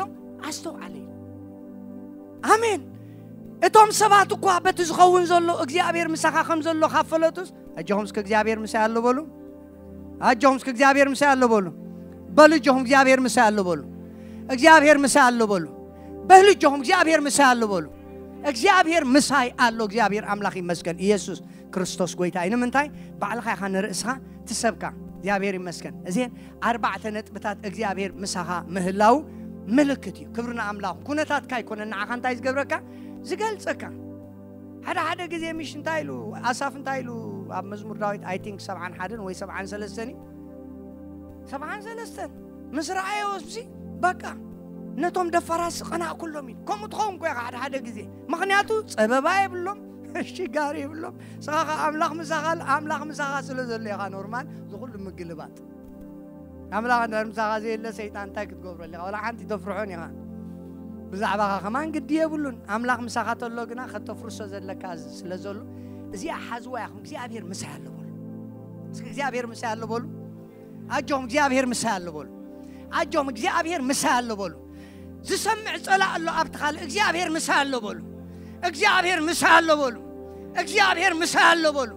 ኣስተውዓለ እዩ። ኣሜን። እቶም ሰባት እኳ በቲ ዝኸውን ዘሎ እግዚኣብሔር ምሳኻ ከም ዘሎ ካብ ፈለጡስ፣ ኣጆኹም እስከ እግዚኣብሔር ምሳይ ኣሎ በሉ። ኣጆኹም እስከ እግዚኣብሔር ምሳይ ኣሎ በሉ። በሉ፣ ኣጆኹም እግዚኣብሔር ምሳይ ኣሎ በሉ። እግዚኣብሔር ምሳይ ኣሎ በሉ። በሉ፣ ኣጆኹም እግዚኣብሔር ምሳይ ኣሎ በሉ። እግዚኣብሔር ምሳይ ኣሎ። እግዚኣብሔር ኣምላኽ ይመስገን። ኢየሱስ ክርስቶስ ጎይታ እዩ። ንምንታይ? ባዕልኻ ኢኻ ንርእስኻ ትሰብካ። እግዚኣብሔር ይመስገን። እዚን ኣርባዕተ ነጥብታት እግዚኣብሔር ምሳኻ ምህላው ምልክት እዩ። ክብሪ ንኣምላኽ። ኩነታትካ ኣይኮነን ንዓኻ እንታይ ዝገብረካ? ዝገልጸካ። ሓደ ሓደ ግዜ ምሽ እንታይ ኢሉ ኣሳፍ እንታይ ኢሉ ኣብ መዝሙር ዳዊት፣ ኣይ ቲንክ ሰብዓን ሓደን ወይ ሰብዓን ሰለስተን እዩ። ሰብዓን ሰለስተን ምስ ረኣዮ ሲ በቃ ነቶም ደፋራት ስቐና ኩሎም ኢሉ። ከምኡ ትኸውን ኮ ኢኻ ሓደ ሓደ ግዜ። ምኽንያቱ ጸበባ የብሎም፣ ሽጋር የብሎም። ስኻ ኸኣ ኣምላኽ ምሳኻ፣ ኣምላኽ ምሳኻ ስለ ዘሎ ኢኻ ኖርማል ዝኹሉ ምግልባጥ። ኣምላኽ እንድሕር ምሳኻ ዘየለ ሰይጣን እንታይ ክትገብረሉ ኢኻ? ዋላ ሓንቲ ተፍርሖን ኢኻ። ብዛዕባኻ ከማን ግዲ የብሉን። ኣምላኽ ምሳኻ ተሎ ግና ከተፍርሶ ዘለካ ዝ-፣ ስለ ዘሎ እዚኣ ሓዝዋ ኢኹም። እግዚኣብሔር ምሳይ ኣሎ በሉ። እስኪ እግዚኣብሔር ምሳይ ኣሎ በሉ። ኣጆኹም እግዚኣብሔር ምሳይ ኣሎ በሉ። ኣጆኹም እግዚኣብሔር ምሳይ ኣሎ በሉ። ዝሰምዕ ጸላእ ኣሎ ኣብቲ ካልእ። እግዚኣብሔር ምሳይ ኣሎ በሉ። እግዚኣብሔር ምሳይ ኣሎ በሉ። እግዚኣብሔር ምሳይ ኣሎ በሉ።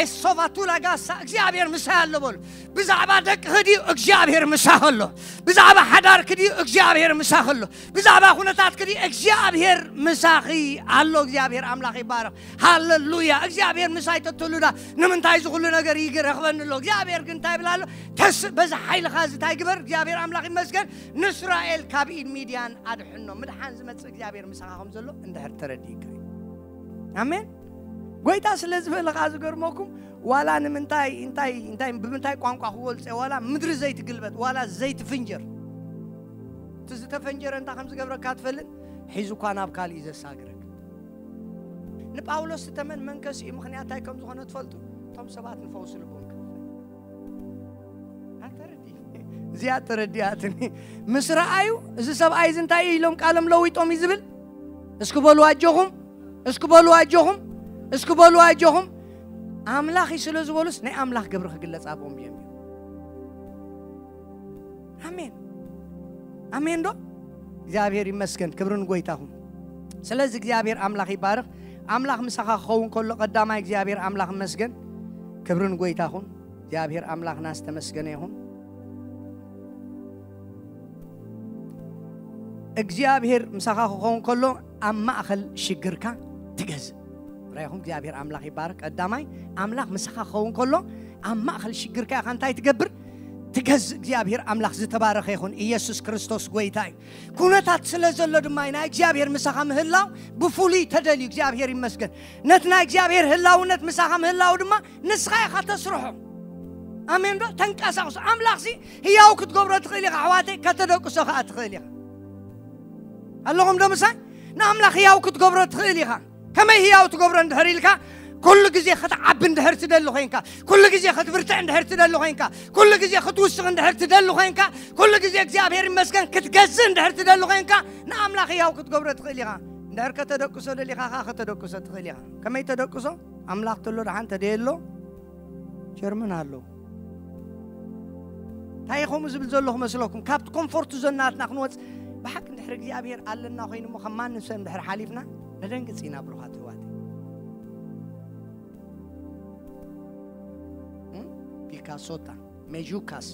ኤሶፋ ቱላ ጋሳ እግዚኣብሔር ምሳይ ኣሎ በሉ። ብዛዕባ ደቅኺ ድዩ እግዚኣብሔር ምሳኺ ኣሎ? ብዛዕባ ሓዳርኪ ድዩ እግዚኣብሔር ምሳኺ ኣሎ? ብዛዕባ ኩነታትኪ ድዩ እግዚኣብሔር ምሳኺ ኣሎ? እግዚኣብሔር ኣምላኽ ይባረኽ። ሃሌሉያ። እግዚኣብሔር ምሳይ ተትህሉዳ ንምንታይ እዚ ኩሉ ነገር ይረኽበኒ ኣሎ? እግዚኣብሔር ግን እንታይ ይብል ኣሎ? ተስ በዚ ሓይልኻ እዚ እንታይ ግበር? እግዚኣብሔር ኣምላኽ ይመስገን፣ ንእስራኤል ካብ ኢድ ሚድያን ኣድሕኖ። ምድሓን ዝመጽእ እግዚኣብሔር ምሳኻ ከም ዘሎ እንድሕር ተረዲእካ እዩ። ኣሜን። ጎይታ ስለ ዝበለ ኸዓ ዝገርመኩም፣ ዋላ ንምንታይ እንታይ እንታይ ብምንታይ ቋንቋ ክገልጾ፣ ዋላ ምድሪ ዘይትግልበጥ፣ ዋላ ዘይትፍንጀር፣ እቲ ዝተፈንጀረ እንታይ ከም ዝገብረካ ትፈልጥ? ሒዙ እኳ ናብ ካልእ እዩ ዘሳግረክ። ንጳውሎስ ዝተመን መንከስ እዩ። ምኽንያት እንታይ ከም ዝኾነ ትፈልጡ? እቶም ሰባት ንፈውሲ ልቦም ክፍል ኣንተረዲ እዚኣ ተረዲኣትኒ። ምስ ረኣዩ፣ እዚ ሰብኣይ እዚ እንታይ እዩ ኢሎም ቃሎም ለዊጦም እዩ ዝብል? እስኪ በሉ ኣጆኹም፣ እስኪ በሉ ኣጆኹም፣ እስኪ በሉ ኣጆኹም። ኣምላኽ እዩ ስለ ዝበሉስ ናይ ኣምላኽ ግብሪ ክግለጽ ኣብኦም ጀሚሩ። ኣሜን፣ ኣሜን ዶ? እግዚኣብሔር ይመስገን። ክብሪ ንጎይታኹም። ስለዚ እግዚኣብሔር ኣምላኽ ይባርኽ። ኣምላኽ ምሳኻ ክኸውን ከሎ ቀዳማይ እግዚኣብሔር ኣምላኽ ይመስገን። ክብሪ ንጎይታኹም። እግዚኣብሔር ኣምላኽና ዝተመስገነ ይኹን። እግዚኣብሔር ምሳኻ ክኸውን ከሎ ኣብ ማእኸል ሽግርካ ትገዝእ። ራይኹም እግዚኣብሔር ኣምላኽ ይባርኽ። ቀዳማይ ኣምላኽ ምሳኻ ክኸውን ከሎ ኣብ ማእኸል ሽግርካ ኢኻ እንታይ ትገብር? ትገዝእ። እግዚኣብሔር ኣምላኽ ዝተባረኸ ይኹን። ኢየሱስ ክርስቶስ ጎይታ እዩ። ኩነታት ስለ ዘሎ ድማ ናይ እግዚኣብሔር ምሳኻ ምህላው ብፍሉይ ተደልዩ። እግዚኣብሔር ይመስገን። ነቲ ናይ እግዚኣብሔር ህላውነት ምሳኻ ምህላው ድማ ንስኻ ኢኻ ተስርሖ። ኣሜን ዶ? ተንቀሳቕሶ። ኣምላኽሲ ህያው ክትገብሮ ትኽእል ኢኻ ኣሕዋተይ፣ ከተደቅሶ ኸዓ ትኽእል ኢኻ። ኣለኹም ዶ ምሳይ? ንኣምላኽ ህያው ክትገብሮ ትኽእል ኢኻ። ከመይ ህያው ትገብሮ እንድሕር ኢልካ፣ ኩሉ ግዜ ክትዓቢ እንድሕር ትደሊ ኮይንካ፣ ኩሉ ግዜ ክትብርትዕ እንድሕር ትደሊ ኮይንካ፣ ኩሉ ግዜ ክትውስኽ እንድሕር ትደሊ ኮይንካ፣ ኩሉ ግዜ እግዚኣብሔር ይመስገን ክትገዝእ እንድሕር ትደሊ ኮይንካ፣ ንኣምላኽ ህያው ክትገብሮ ትኽእል ኢኻ። እንድሕር ከተደቅሶ ደሊኻ ኸዓ ከተደቅሶ ትኽእል ኢኻ። ከመይ ተደቅሶ? ኣምላኽ ተሎ ደሓን ተደየሎ ጀርመን ኣሎ። እንታይ ከምኡ ዝብል ዘለኹ መስለኩም? ካብቲ ኮምፎርት ዞን ናትና ክንወጽእ ብሓቂ እንድሕር እግዚኣብሔር ኣለና ኮይኑ እሞ ከም ማንም ሰብ እንድሕር ሓሊፍና ነደንግጽ ኢና ብሩኻት ኣሕዋተይ። እም? ፒካሶታ፣ ሜጁካስ፣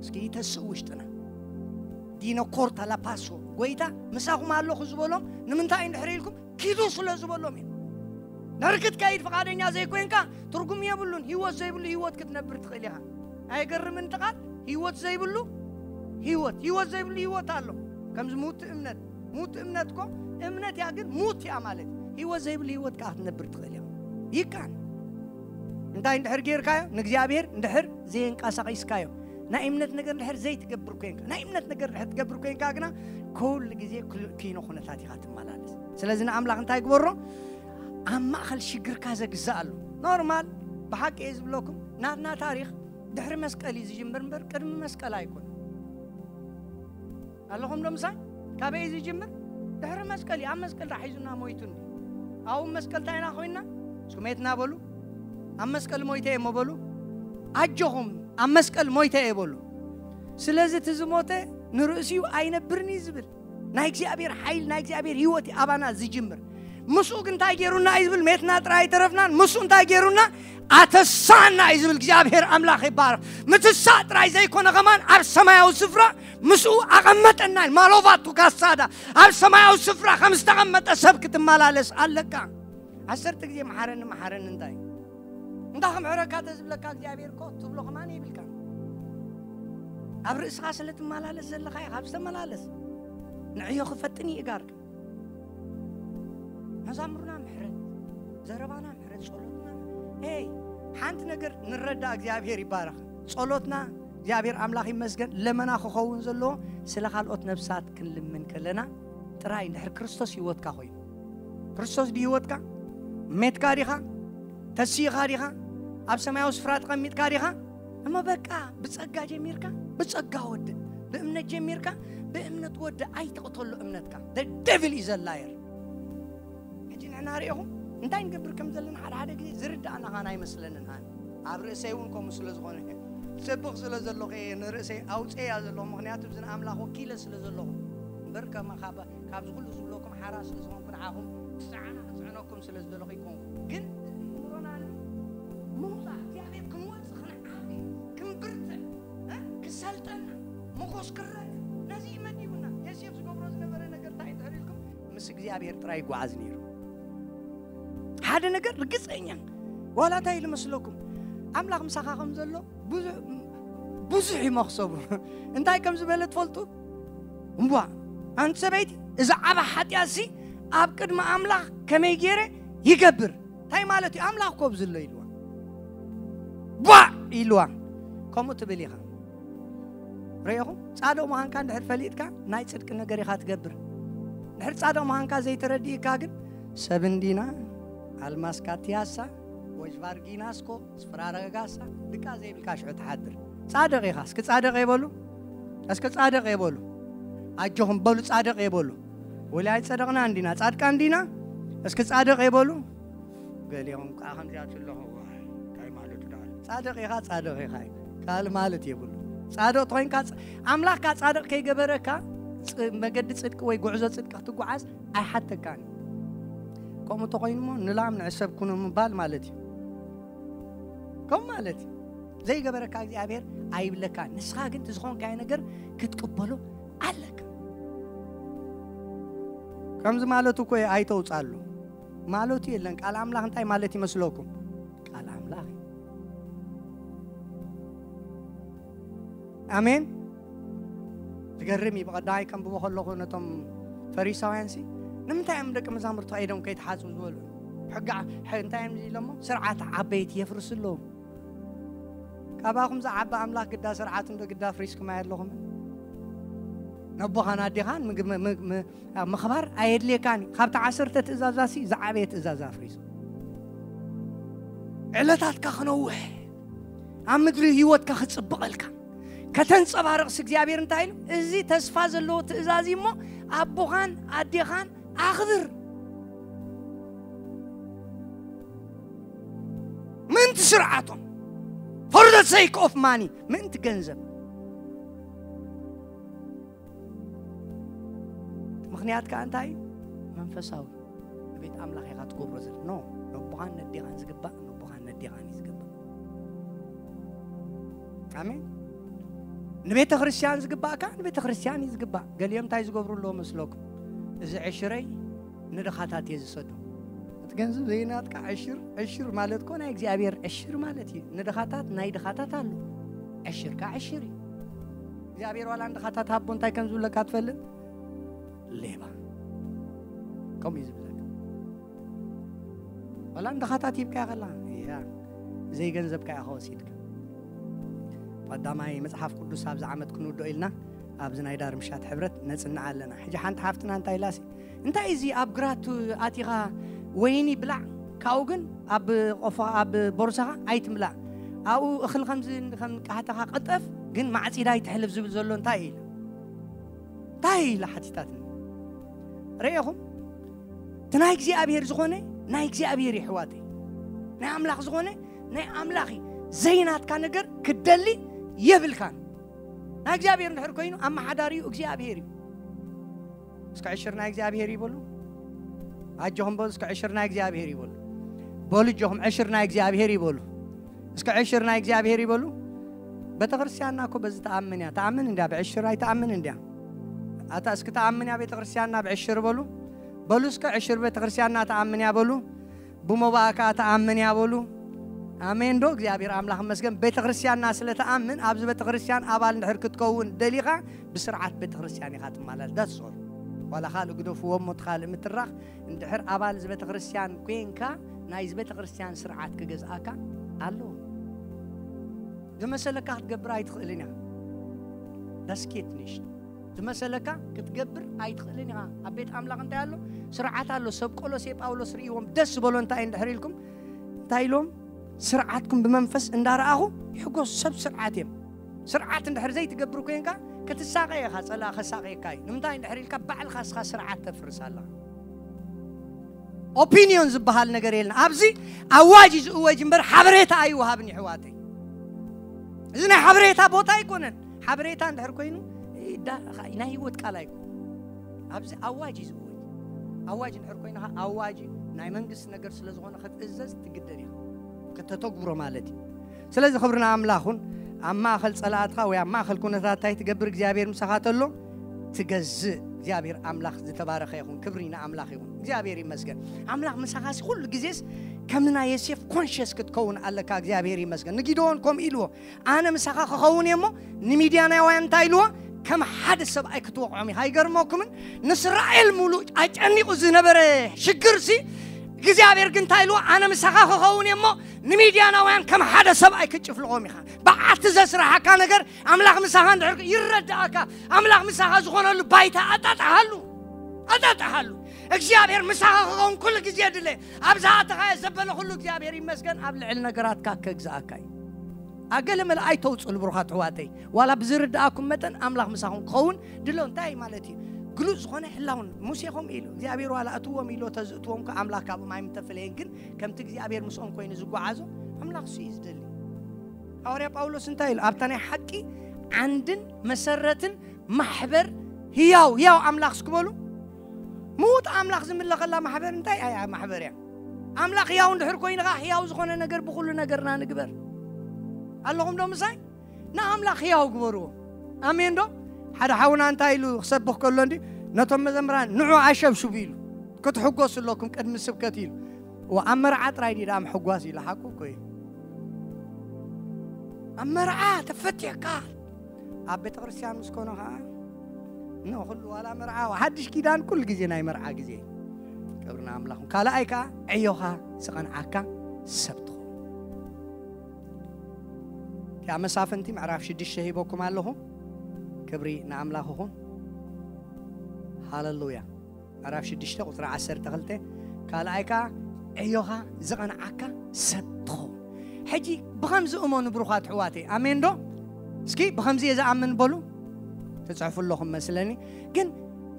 እስኪ ይተስእ ውሽጥና። ዲኖ ኮርታ ላፓሶ፣ ጎይታ ምሳኹም ኣለኹ ዝበሎም ንምንታይ እንድሕር ኢልኩም ኪዱ ስለ ዝበሎም እዩ። ድሕሪ ክትከይድ ፍቓደኛ ዘይኮንካ ትርጉም የብሉን። ህይወት ዘይብሉ ህይወት ክትነብር ትኽእል ኢኻ። ኣይገርምን እቲ ቃል? ህይወት ዘይብሉ ህይወት፣ ህይወት ዘይብሉ ህይወት ኣሎ። ከምዚ ሙት እምነት፣ ሙት እምነት እኮ እምነት እያ፣ ግን ሙት እያ ማለት እዩ። ህይወት ዘይብሉ ህይወት ከዓ ክትነብር ትኽእል ኢኻ። ይካን እንታይ እንድሕር ጌርካዮ? ንእግዚኣብሔር እንድሕር ዘየንቀሳቒስካዮ፣ ናይ እምነት ነገር እንድሕር ዘይትገብር ኮንካ፣ ናይ እምነት ነገር እንድሕር ትገብር ኮንካ ግና ኩሉ ግዜ ክል-፣ ኪኖ ኩነታት ኢኻ ትመላለስ። ስለዚ ንኣምላኽ እንታይ ግበሮ? ኣብ ማእኸል ሽግርካ ዘግዛእ ኣሎ። ኖርማል፣ ብሓቂ እየ ዝብለኩም፣ ናትና ታሪኽ ድሕሪ መስቀል እዩ ዝጅምር እምበር ቅድሚ መስቀል ኣይኮነን። ኣለኹም ዶ ምሳይ? ካበይ እዩ ዝጅምር? ድሕሪ መስቀል እዩ። ኣብ መስቀል ዳ ሒዙና ሞይቱ እንዲ። ኣብ መስቀል እንታይ ኢና ኮይንና? እስኩም የትና በሉ። ኣብ መስቀል ሞይተ እየ እሞ በሉ። ኣጆኹም፣ ኣብ መስቀል ሞይተ እየ በሉ። ስለዚ እቲ ዝሞተ ንርእሲኡ ኣይነብርን እዩ ዝብል። ናይ እግዚኣብሔር ሓይል፣ ናይ እግዚኣብሔር ህይወት እዩ ኣባና ዝጅምር። ምስኡ ግን እንታይ ገይሩና እዩ ዝብል? ሜትና ጥራይ ኣይተረፍናን። ምስኡ እንታይ ገይሩና? ኣተሳና እዩ ዝብል። እግዚኣብሔር ኣምላኽ ይባረኽ። ምትሳእ ጥራይ ዘይኮነ ከማን ኣብ ሰማያዊ ስፍራ ምስኡ ኣቐመጠና። ማሎቫቱ ካሳዳ ኣብ ሰማያዊ ስፍራ ከም ዝተቐመጠ ሰብ ክትመላለስ ኣለካ። ዓሰርተ ግዜ መሓረኒ፣ መሓረኒ እንታይ? እንዳ ክምሕረካ ተዝብለካ እግዚኣብሔር እኮ ትብሎ ከማን ይብልካ። ኣብ ርእስኻ ስለ ትመላለስ ዘለኻ ኢኻ። ኣብ ዝተመላለስ ንዕዮ ክፈጥን ይእጋርካ። መዛሙርና ምሕረት፣ ዘረባና ምሕረት፣ ጸሎትና ምሕረት። ኤይ፣ ሓንቲ ነገር ንረዳ፣ እግዚኣብሔር ይባረኽ። ጸሎትና እግዚኣብሔር ኣምላኽ ይመስገን፣ ለመና ክኸውን ዘለዎ ስለ ካልኦት ነፍሳት ክንልምን ከለና ጥራይ፣ እንድሕር ክርስቶስ ህይወትካ ኮይኑ። ክርስቶስ ድዩ ህይወትካ? ሜትካ ዲኻ? ተሲእኻ ዲኻ? ኣብ ሰማያዊ ስፍራ ተቐሚጥካ ዲኻ? እሞ በቃ፣ ብጸጋ ጀሚርካ፣ ብጸጋ ወድእ። ብእምነት ጀሚርካ፣ ብእምነት ወድእ። ኣይትቕተሎ እምነትካ። The devil is a liar። ሕጂ ንሕና ርኢኹም እንታይ ንገብር ከም ዘለና ሓደ ሓደ ግዜ ዝርዳእና ኻን ኣይመስለንን። ኣነ ኣብ ርእሰይ እውን ከምኡ ስለ ዝኾነ፣ ሰብኽ ስለ ዘለኹ እየ ንርእሰይ ኣውፅኤያ ዘለኹ። ምኽንያቱ፣ እዚ ንኣምላኽ ወኪለ ስለ ዘለኹ እምበር፣ ከማ-፣ ካብ-፣ ካብዚ ኩሉ ዝብለኩም ሓራ ስለ ዝኾንኩ፣ ንዓኹም ክፅዓና ክፅዕነኩም ስለ ዝደለኹ ኣይኮንኩ። ግን እዚ ምሮና ምውፃእ ሰልጠና፣ ምኾስ ክረአ። ነዚ እዩ መዲቡና። ዮሴፍ ዝገብሮ ዝነበረ ነገር እንታይ እንድሕር ኢልኩም፣ ምስ እግዚኣብሔር ጥራይ ይጓዓዝ ነይሩ። ሓደ ነገር ርግጸኛ፣ ዋላ እንታይ ኢሉ መስለኩም? ኣምላኽ ምሳኻ ከም ዘሎ ብዙ-፣ ብዙሕ እዩ መኽሰቡ። እንታይ ከም ዝበለ ትፈልጡ? እምቧ፣ ኣንቲ ሰበይቲ፣ እዚ ዓባ ሓጢኣትሲ ኣብ ቅድሚ ኣምላኽ ከመይ ገይረ ይገብር? እንታይ ማለት እዩ? ኣምላኽ ኮብ ዝሎ ኢልዋ። ቧዕ ኢልዋ። ከምኡ ትብል ኢኻ። ርኢኹም? ጻድቕ ምዃንካ እንድሕር ፈሊጥካ፣ ናይ ጽድቂ ነገር ኢኻ ትገብር። እንድሕር ጻድቕ ምዃንካ ዘይተረዲእካ ግን፣ ሰብ እንዲና፣ ኣልማስካ ቲያሳ፣ ወጅቫርጊናስኮ፣ ስፍራረጋሳ፣ ድቃ ዘይብልካ ሽዑ ትሓድር። ጻድቕ ኢኻ። እስኪ ጻድቕ የበሉ። እስኪ ጻድቕ የበሉ። ኣጆኹም በሉ፣ ጻድቕ የበሉ። ወላ ኣይጸደቕና እንዲና፣ ጻድቃን እንዲና። እስኪ ጻድቕ የበሉ። ገሊኦም ከዓ ከምዚኣ ትለኹ፣ እንታይ ማለቱ ደኣ? ጻድቕ ኢኻ፣ ጻድቕ ኢኻ። ካልእ ማለት የብሉ። ጻድቕ ተኾይንካ፣ ጻ-፣ ኣምላኽካ ጻድቕ ከይገበረካ፣ ጽ-፣ መገዲ ጽድቂ ወይ ጉዕዞ ጽድቂ ክትጓዓዝ ኣይሓተካን። ከምኡ ተኾይኑ እሞ፣ ንላም ንዕሰብ ኩኑ ምባል ማለት እዩ። ከምኡ ማለት እዩ። ዘይገበረካ እግዚኣብሔር ኣይብለካን። ንስኻ ግን እቲ ዝኾንካዮ ነገር ክትቅበሎ ኣለካ። ከምዚ ማለቱ እኮ እዩ፣ ኣይተውጻሉ ማለቱ የለን። ቃል ኣምላኽ እንታይ ማለት ይመስለኩም? ቃል ኣምላኽ እዩ። ኣሜን። ዝገርም እዩ። ብቐዳማይ ከንብቦ ከለኹ ነቶም ፈሪሳውያንሲ ንምንታይ እዮም ደቂ መዛሙርቲ ከይዶም ከይተሓጽቡ ዝበሉ? ሕጊ ዓ-፣ ሕ-፣ እንታይ እዮም ኢሎሞ? ስርዓት ዓበይቲ የፍርሱ ኣለዉ። ካባኹም ዝዓቢ ኣምላኽ ግዳ ስርዓት እንዶ ግዳ ኣፍሪስኩም ኣየለኹምን? ነቦኻን ኣዴኻን ምግብ-፣ ም-፣ ም-፣ ምኽባር ኣየድልየካን እዩ። ካብቲ ዓሰርተ ትእዛዛሲ ዝዓበየ ትእዛዝ ኣፍሪሱ። ዕለታትካ ክነውሕ፣ ኣብ ምድሪ ህይወትካ ክጽብቐልካ፣ ከተንጸባርቕስ እግዚኣብሔር እንታይ ኢሉ? እዚ ተስፋ ዘለዎ ትእዛዝ እዩ እሞ ኣቦኻን ኣዴኻን ኣኽብር። ምእንቲ ስርዓቶም፣ for the sake of money፣ ምእንቲ ገንዘብ። ምኽንያት ከኣ እንታይ እዩ? መንፈሳዊ። ንቤት ኣምላኽ ኢኻ ትገብሮ ዘለ። ኖ፣ ነቦኻን ነዴኻን ዝግባእ፣ ነቦኻን ነዴኻን እዩ ዝግባእ። ኣሜን። ንቤተ ክርስቲያን ዝግባእ ከኣ ንቤተ ክርስቲያን እዩ ዝግባእ። ገሊኦም እንታይ ዝገብሩ ኣለዉ መስለኩም? እዚ ዕሽረይ ንድኻታት እየ ዝሰዶ። እቲ ገንዘብ ዘይናትካ ዕሽር፣ ዕሽር ማለት እኮ ናይ እግዚኣብሔር ዕሽር ማለት እዩ። ንድኻታት ናይ ድኻታት ኣሎ። ዕሽር ከኣ ዕሽር እዩ። እግዚኣብሔር ዋላ ንድኻታት ሃቦ እንታይ ከም ዝብለካ ትፈልጥ? ሌባ። ከምኡ እዩ ዝብለካ። ዋላ ንድኻታት ሂብካያ ከላ፣ እያ፣ ዘይገንዘብካ ኢኻ ወሲድካ። ቀዳማይ መጽሓፍ ቅዱስ ኣብዚ ዓመት ክንውድኦ ኢልና ኣብዚ ናይ ዳር ምሻት ሕብረት ነጽንዓ ኣለና። ሕጂ ሓንቲ ሓፍትና እንታይ ኢላሲ፣ እንታይ እዚ ኣብ ግራት ኣቲኻ ወይኒ ብላዕ፣ ካብኡ ግን ኣብ ቆፎ፣ ኣብ ቦርሳኻ ኣይትምላእ። ኣብኡ እኽሊ ከምዚ ከም ቃሕታኻ ቅጠፍ፣ ግን ማዕጺዳ ኣይትሕልፍ ዝብል ዘሎ እንታይ እዩ ኢላ? እንታይ ኢላ ሓቲታትኒ? ርኤኹም? እቲ ናይ እግዚኣብሔር ዝኾነ ናይ እግዚኣብሔር እዩ፣ ኣሕዋተይ። ናይ ኣምላኽ ዝኾነ ናይ ኣምላኽ እዩ። ዘይናትካ ነገር ክትደሊ የብልካን። ናይ እግዚኣብሔር እንድሕር ኮይኑ፣ ኣመሓዳሪኡ እግዚኣብሔር እዩ። እስከ ዕሽር ናይ እግዚኣብሔር እዩ በሉ። ኣጆኹም በሉ፣ እስከ ዕሽር ናይ እግዚኣብሔር እዩ በሉ። በሉ ኣጆኹም፣ ዕሽር ናይ እግዚኣብሔር እዩ በሉ። እስከ ዕሽር ናይ እግዚኣብሔር እዩ በሉ። ቤተክርስትያንና እኮ በዚ ትኣምን እያ። ትኣምን እንድያ፣ ብዕሽር ኣይትኣምን እንድያ። ኣታ እስኪ ትኣምን እያ ቤተክርስትያንና ብዕሽር በሉ። በሉ እስከ ዕሽር ቤተክርስትያንና ትኣምን እያ በሉ። ብሞባእ ከኣ ትኣምን እያ በሉ። ኣሜን ዶ? እግዚኣብሔር ኣምላኽ ይመስገን። ቤተክርስትያንና ስለ ትኣምን፣ ኣብዚ ቤተክርስትያን ኣባል እንድሕር ክትከውን ደሊኻ፣ ብስርዓት ቤተክርስትያን ኢኻ ትመላለስ። That's all። ዋላ ካልእ ግደፍዎ እሞ፣ እቲ ካልእ ምትራኽ፣ እንድሕር ኣባል እዚ ቤተክርስትያን ኮይንካ፣ ናይዚ ቤተክርስትያን ስርዓት ክገዝኣካ ኣለዎ። ዝመሰለካ ክትገብር ኣይትኽእልን ኢኻ። Das geht nicht። ዝመሰለካ ክትገብር ኣይትኽእልን ኢኻ። ኣብ ቤት ኣምላኽ እንታይ ኣሎ? ስርዓት ኣሎ። ሰብ ቆሎሴ ጳውሎስ ርእይዎም ደስ ዝበሎ እንታይ እንድሕር ኢልኩም? እንታይ ኢሎም? ስርዓትኩም ብመንፈስ እንዳረኣኹ ይሕጎስ። ሰብ ስርዓት እዮም። ስርዓት እንድሕር ዘይትገብር ኮይንካ ክትሳቐ ኢኻ፣ ጸላእ ከሳቐየካ እዩ። ንምንታይ እንድሕር ኢልካ ባዕልኻ እስኻ ስርዓት ተፍርስ ኣለኻ። ኦፒንዮን ዝበሃል ነገር የለን። ኣብዚ ኣዋጅ እዩ ዝእወጅ እምበር ሓበሬታ ኣይወሃብን፣ ይሕዋተይ። እዚ ናይ ሓበሬታ ቦታ ኣይኮነን። ሓበሬታ እንድሕር ኮይኑ፣ ዳ-፣ ናይ ህይወት ቃል ኣይኮነን። ኣብዚ ኣዋጅ እዩ ዝእወጅ። ኣዋጅ እንድሕር ኮይኑ፣ ኣዋጅ እዩ። ናይ መንግስቲ ነገር ስለ ዝኾነ ክትእዘዝ ትግደድ ኢኻ። ከተተግብሮ ማለት እዩ። ስለዚ ክብሪ ንኣምላኽ ይኹን። ኣብ ማእኸል ጸላእትኻ ወይ ኣብ ማእኸል ኩነታት እንታይ ትገብር እግዚኣብሔር ምሳኻ ተሎ ትገዝእ። እግዚኣብሔር ኣምላኽ ዝተባረኸ ይኹን። ክብሪ ንኣምላኽ ይኹን። እግዚኣብሔር ይመስገን። ኣምላኽ ምሳኻ ሲ ኩሉ ግዜስ ከም ናይ ዮሴፍ ኮንሽስ ክትከውን ኣለካ። እግዚኣብሔር ይመስገን። ንጊደዎን ከምኡ ኢልዎ፣ ኣነ ምሳኻ ክኸውን እየ እሞ ንሚድያናውያን እንታይ ኢልዎ? ከም ሓደ ሰብኣይ ክትወቕዖም ኢኻ። ኣይገርመኩምን? ንእስራኤል ሙሉእ ኣጨኒቑ ዝነበረ ሽግር ሲ እግዚኣብሔር ግን እንታይ ኢልዎ? ኣነ ምሳኻ ክኸውን እየ እሞ ንሚድያናውያን ከም ሓደ ሰብኣይ ክትጭፍልቖም ኢኻ። ብዓቲ ዘስራሓካ ነገር ኣምላኽ ምሳኻ እንድሕር ይረዳእካ። ኣምላኽ ምሳኻ ዝኾነሉ ባይታ ኣጣጣሃሉ ኣጣጣሃሉ። እግዚኣብሔር ምሳኻ ክኸውን ኩሉ ግዜ ድለ። ኣብ ዝኣተኻዮ ዘበለ ኩሉ እግዚኣብሔር ይመስገን። ኣብ ልዕሊ ነገራትካ ከግዝኣካ እዩ። ኣገለ መለ ኣይተውፅሉ ብሩኻት ኣሕዋተይ። ዋላ ብዝርድኣኩም መጠን ኣምላኽ ምሳኹም ክኸውን ድሎ እንታይ ማለት እዩ? ግሉጽ ዝኾነ ሕላውን ሙሴ ከምኡ ኢሉ እግዚኣብሔር ዋላ እትዎም ኢሎ ተዝእትዎም ከ ኣምላኽ ካብኦም ኣይምተፈለየን። ግን ከምቲ እግዚኣብሔር ምስኦም ኮይኑ ዝጓዓዞ ኣምላኽ እሱ እዩ ዝደሊ። ሃዋርያ ጳውሎስ እንታይ ኢሉ? ኣብታ ናይ ሓቂ ዓንድን መሰረትን ማሕበር ህያው ህያው ኣምላኽ እስክበሉ ምዉት ኣምላኽ ዝምለኸላ ማሕበር እንታይ ኣያ ማሕበር እያ? ኣምላኽ ህያው እንድሕር ኮይኑ ኸዓ ህያው ዝኾነ ነገር ብኹሉ ነገርና ንግበር። ኣለኹም ዶ ምሳይ? ንኣምላኽ ህያው ግበርዎ። ኣሜን ዶ? ሓደ ሓውና እንታይ ኢሉ ክሰብኽ ከሎ እንዲ ነቶም መዘምራን ንዑ ኣሸብሽቡ ኢሉ ክትሕጎሱ ኣለኩም ቅድሚ ስብከት ኢሉ። እዋ ኣብ መርዓ ጥራይ ድዩ ደኣ ምሕጓስ ኢሉ ሓቁ እኮ እዩ። ኣብ መርዓ ተፈቲሕካ ኣብ ቤተ ክርስቲያን ምስ ኮነ ኸዓ ኖ ኩሉ ዋላ መርዓ ሓድሽ ኪዳን ኩሉ ግዜ ናይ መርዓ ግዜ። ክብሪ ንኣምላኽ። ካልኣይ ከኣ ዕዮኻ ዝቐንዓካ ሰብ ትኸውን። እቲኣ መሳፍንቲ ምዕራፍ ሽዱሽተ ሂበኩም ኣለኹ። ክብሪ ንኣምላኽ ይኹን። ሃለሉያ። ምዕራፍ ሽዱሽተ ቁፅሪ ዓሰርተ ክልተ ካልኣይ ከኣ ዕዮኻ ዝቐንዓካ ሰብ ትኸውን። ሕጂ ብኸምዚ እመኑ ብሩኻት ኣሕዋተይ። ኣሜን ዶ? እስኪ ብኸምዚ እየ ዝኣምን በሉ። ትፅሕፉ ኣለኹም መስለኒ። ግን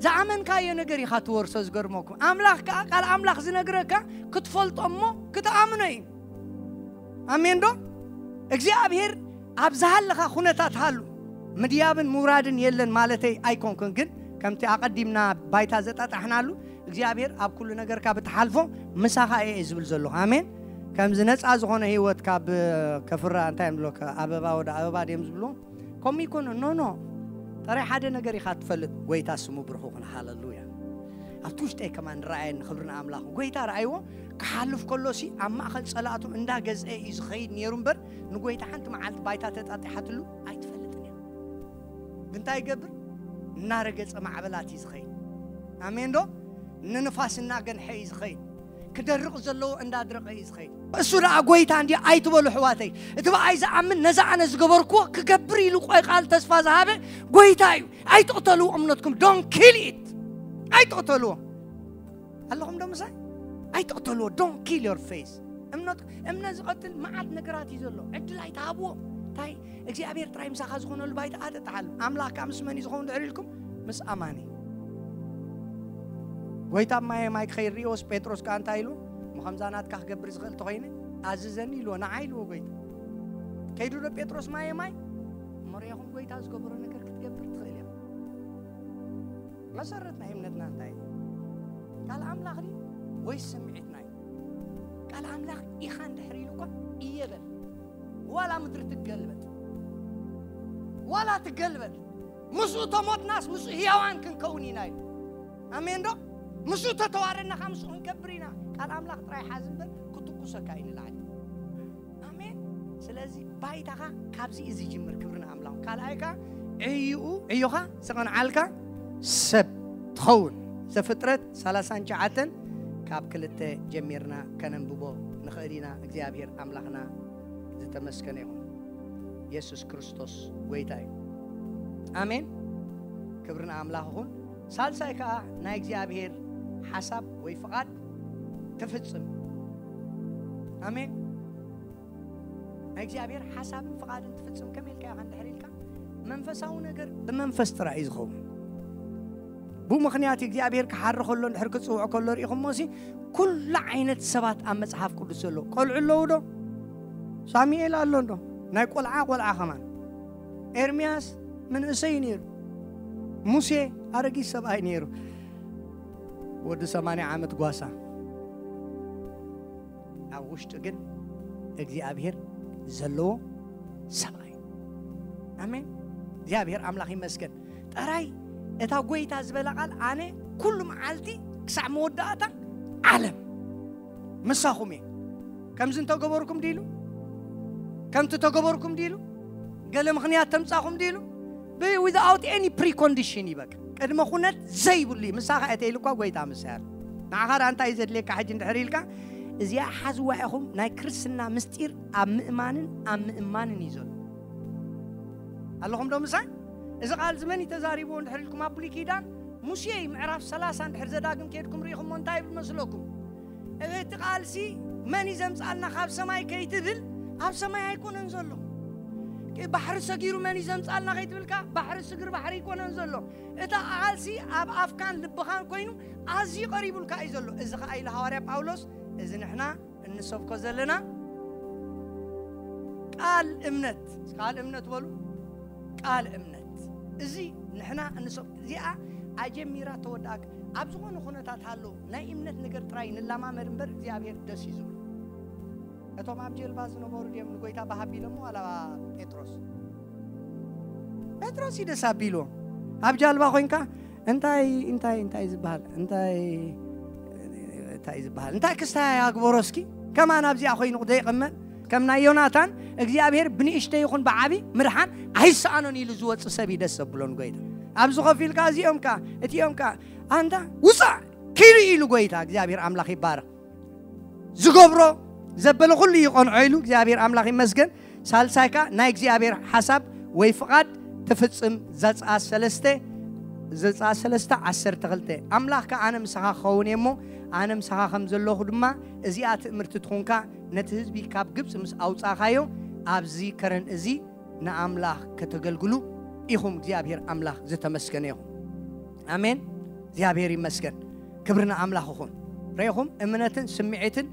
ዝኣመንካዮ ነገር ኢኻ ትወርሶ። ዝገርመኩም ኣምላኽ ከኣ ቃል ኣምላኽ ዝነግረካ ክትፈልጦ እሞ ክትኣምኖ እዩ። ኣሜን ዶ? እግዚኣብሔር ኣብ ዝሃለኻ ኩነታት ሃሉ። ምድያብን ምውራድን የለን ማለተይ ኣይኮንኩን፣ ግን ከምቲ ኣቐዲምና ባይታ ዘጣጣሕናሉ እግዚኣብሔር ኣብ ኩሉ ነገርካ ብትሓልፎ ምሳኻ እየ ዝብል ዘለኹ። ኣሜን። ከምዚ ነፃ ዝኾነ ህይወት ካብ ከፍራ እንታይ እዮም ዝብሎ? ኣበባ ወደ ኣበባ ድዮም ዝብልዎ? ከምኡ ይኮኑ። ኖ፣ ኖ። ጥራይ ሓደ ነገር ኢኻ ትፈልጥ። ጎይታ ስሙ ብሩኽ ይኹን። ሃለሉያ። ኣብቲ ውሽጠይ ከማን ረኣየኒ። ክብሪ ንኣምላኽ። ጎይታ ረኣይዎ። ክሓልፍ ከሎሲ ኣብ ማእኸል ጸላእቱ እንዳገዝአ እዩ ዝኸይድ ነይሩ እምበር ንጎይታ ሓንቲ መዓልቲ ባይታ ተጣጢሓትሉ ኣይትፈልጥን እያ። እንታይ ይገብር? እናረገጸ ማዕበላት እዩ ዝኸይድ። ኣሜን ዶ? ንንፋስ እናገንሐ እዩ ዝኸይድ። ክደርቕ ዘለዎ እንዳድረቐ እዩ ዝኸይድ። እሱ ደኣ ጎይታ እንዲ ኣይትበሉ ኣሕዋተይ። እቲ ብኣይ ዝኣምን ነዛ ኣነ ዝገበርክዎ ክገብር ኢሉ ቆይ ቃል ተስፋ ዝሃበ ጎይታ እዩ። ኣይትቕተልዎ እምነትኩም። Don't kill it። ኣይትቕተልዎ። ኣለኹም ዶ ምሳይ? ኣይትቕተልዎ። Don't kill your faith። እምነት እምነት ዝቐትል መዓት ነገራት እዩ ዘሎ። ዕድል ኣይትሃብዎ። እንታይ እግዚኣብሔር ጥራይ ምሳኻ ዝኾነሉ ባይታ ኣጠጣሓሉ። ኣምላኽካ ምስ መን እዩ ዝኸውን ድሕር ኢልኩም? ምስ ኣማኒ። ጎይታ ማየ ማይ ክኸይድ ርእዮስ ጴጥሮስ ከኣ እንታይ ኢሉ? እሞ ከምዛ ናትካ ክገብር ዝኽእል ተኾይነ ኣዝዘኒ ኢልዎ። ንዓይ ኢልዎ ጎይታ። ከይዱ ዶ ጴጥሮስ ማየ ማይ? እሞ ርእኹም ጎይታ ዝገበሮ ነገር ክትገብር ትኽእል እያ። መሰረት ናይ እምነትና እንታይ እዩ? ቃል ኣምላኽ ድዩ ወይስ ስምዒትና እዩ? ቃል ኣምላኽ ኢኻ እንድሕር ኢሉ እኳ እየ በል። ዋላ ምድሪ ትገልበጥ፣ ዋላ ትገልበጥ፣ ምስኡ ተሞትናስ ምስኡ ህያዋን ክንከውን ኢና ኢሉ። ኣሜን ዶ? ምስኡ ተተዋረድና ከዓ ምስኡ ክንከብር ኢና። ቃል ኣምላኽ ጥራይ ሓዝ እምበር ክትኩሰካ እዩ ንላዕሊ። ኣሜን። ስለዚ ባይታኻ ካብዚ እዩ ዝጅምር። ክብሪ ንኣምላኽ። ካልኣይ ከዓ ዕዩኡ ዕዩኻ ዝቐንዓልካ ሰብ ትኸውን። ዘፍጥረት ሰላሳን ትሽዓተን ካብ ክልተ ጀሚርና ከነንብቦ ንኽእል ኢና። እግዚኣብሔር ኣምላኽና ዝተመስገነ ይኹን። የሱስ ክርስቶስ ጎይታ እዩ። ኣሜን። ክብሪ ንኣምላኽ ይኹን። ሳልሳይ ከዓ ናይ እግዚኣብሔር ሓሳብ ወይ ፍቓድ ትፍጽም። ኣሜን። ናይ እግዚኣብሔር ሓሳብን ፍቓድን ትፍጽም ከመይ ኢልካ ኢኻ እንድሕር ኢልካ መንፈሳዊ ነገር ብመንፈስ ጥራይ እዩ ዝኸውን። ብኡ ምኽንያት እግዚኣብሔር ክሓሪ ከሎ እንድሕር ክጽውዖ ከሎ ርኢኹሞ ሲ ኩሉ ዓይነት ሰባት ኣብ መጽሓፍ ቅዱስ ዘለዉ ቆልዑ ኣለዉ ዶ? ሳሙኤል ኣሎ እንዶ ናይ ቆልዓ ቆልዓ ከማን። ኤርምያስ መንእሰይ ነይሩ። ሙሴ ኣረጊት ሰብኣይ ነይሩ። ወዲ ሰማንያ ዓመት ጓሳ። ኣብ ውሽጡ ግን እግዚኣብሔር ዘለዎ ሰብኣይ። ኣሜን። እግዚኣብሔር ኣምላኽ ይመስገን። ጥራይ እታ ጎይታ ዝበላ ቃል፣ ኣነ ኩሉ መዓልቲ ክሳዕ መወዳእታ ዓለም ምሳኹም እየ። ከምዚ እንተገበርኩም ድሉ፣ ከምቲ ተገበርኩም ድሉ፣ ገለ ምኽንያት ተምጻኹም ድሉ፣ without any precondition ይበቃ። ቅድመ ኩነት ዘይብሉ እዩ። ምሳኻ እየ ተይሉ እኳ ጎይታ ምሳይ ኣሎ። ንዓኻ ደኣ እንታይ እዩ ዘድልየካ ሕጂ እንድሕር ኢልካ፣ እዚኣ ሓዝዋ ኢኹም። ናይ ክርስትና ምስጢር ኣብ ምእማንን ኣብ ምእማንን እዩ ዘሎ። ኣለኹም ዶ ምሳይ? እዚ ቃል እዚ መን እዩ ተዛሪብዎ እንድሕር ኢልኩም፣ ኣብ ብሉይ ኪዳን ሙሴ እዩ። ምዕራፍ ሰላሳ እንድሕር ዘዳግም ከድኩም ርኢኹሞ እንታይ ይብል መስለኩም? እቲ ቃልሲ መን እዩ ዘምጻልና ካብ ሰማይ ከይትብል፣ ኣብ ሰማይ ኣይኮነን ዘሎ። ባሕሪ ሰጊሩ መን እዩ ዘምጻልና ከይትብልካ፣ ባሕሪ ስግር ባሕሪ ኣይኮነን ዘሎ። እታ ቃልሲ ኣብ ኣፍካን ልብኻን ኮይኑ ኣዝዩ ቀሪቡልካ እዩ ዘሎ። እዚ ኸዓ ኢሉ ሃዋርያ ጳውሎስ፣ እዚ ንሕና እንሰብኮ ዘለና ቃል እምነት፣ ቃል እምነት በሉ፣ ቃል እምነት። እዚ ንሕና እንሰብ-፣ እዚኣ ኣጀሚራ ተወዳእካ። ኣብ ዝኾነ ኩነታት ሃሎ፣ ናይ እምነት ነገር ጥራይ ንላማመድ እምበር እግዚኣብሔር ደስ እዩ ዝብሎ። እቶም ኣብ ጀልባ ዝነበሩ ድዮም ንጎይታ ብሃቢሎሞ ዋላ ጴጥሮስ? ጴጥሮስ እዩ ደስ ኣቢልዎ። ኣብ ጃልባ ኮይንካ እንታይ፣ እንታይ፣ እንታይ ዝበሃል? እንታይ፣ እንታይ ዝበሃል? እንታይ ክስታይ ኣግበሮ እስኪ? ከማን ኣብዚኣ ኮይኑ ዘይቕመጥ? ከም ናይ ዮናታን እግዚኣብሔር ብንእሽተይ ይኹን ብዓቢ ምድሓን ኣይሰኣኖን ኢሉ ዝወጽእ ሰብ እዩ ደስ ዘብሎ ንጎይታ። ኣብዚ ኮፍ ኢልካ እዚኦም ከ፣ እቲኦም ከ፣ ኣንታ ውጻእ ኪዱ ኢሉ ጎይታ እግዚኣብሔር ኣምላኽ ይባረኽ። ዝገብሮ ዘበለ ኩሉ ይቐንዖ ኢሉ እግዚኣብሔር ኣምላኽ ይመስገን። ሳልሳይ ከኣ ናይ እግዚኣብሔር ሓሳብ ወይ ፍቓድ ትፍጽም። ዘጽኣት ሰለስተ፣ ዘጽኣት ሰለስተ ዓሰርተ ክልተ፣ ኣምላኽ ከኣ ኣነ ምሳኻ ክኸውን እየ እሞ፣ ኣነ ምሳኻ ከም ዘለኹ ድማ እዚኣ ትእምርቲ ትኹንካ፣ ነቲ ህዝቢ ካብ ግብጺ ምስ ኣውጻእካዮ ኣብዚ ከረን እዚ ንኣምላኽ ከተገልግሉ ኢኹም። እግዚኣብሔር ኣምላኽ ዝተመስገነ ይኹን። ኣሜን። እግዚኣብሔር ይመስገን። ክብሪ ንኣምላኽ ይኹን። ርኢኹም፣ እምነትን ስምዒትን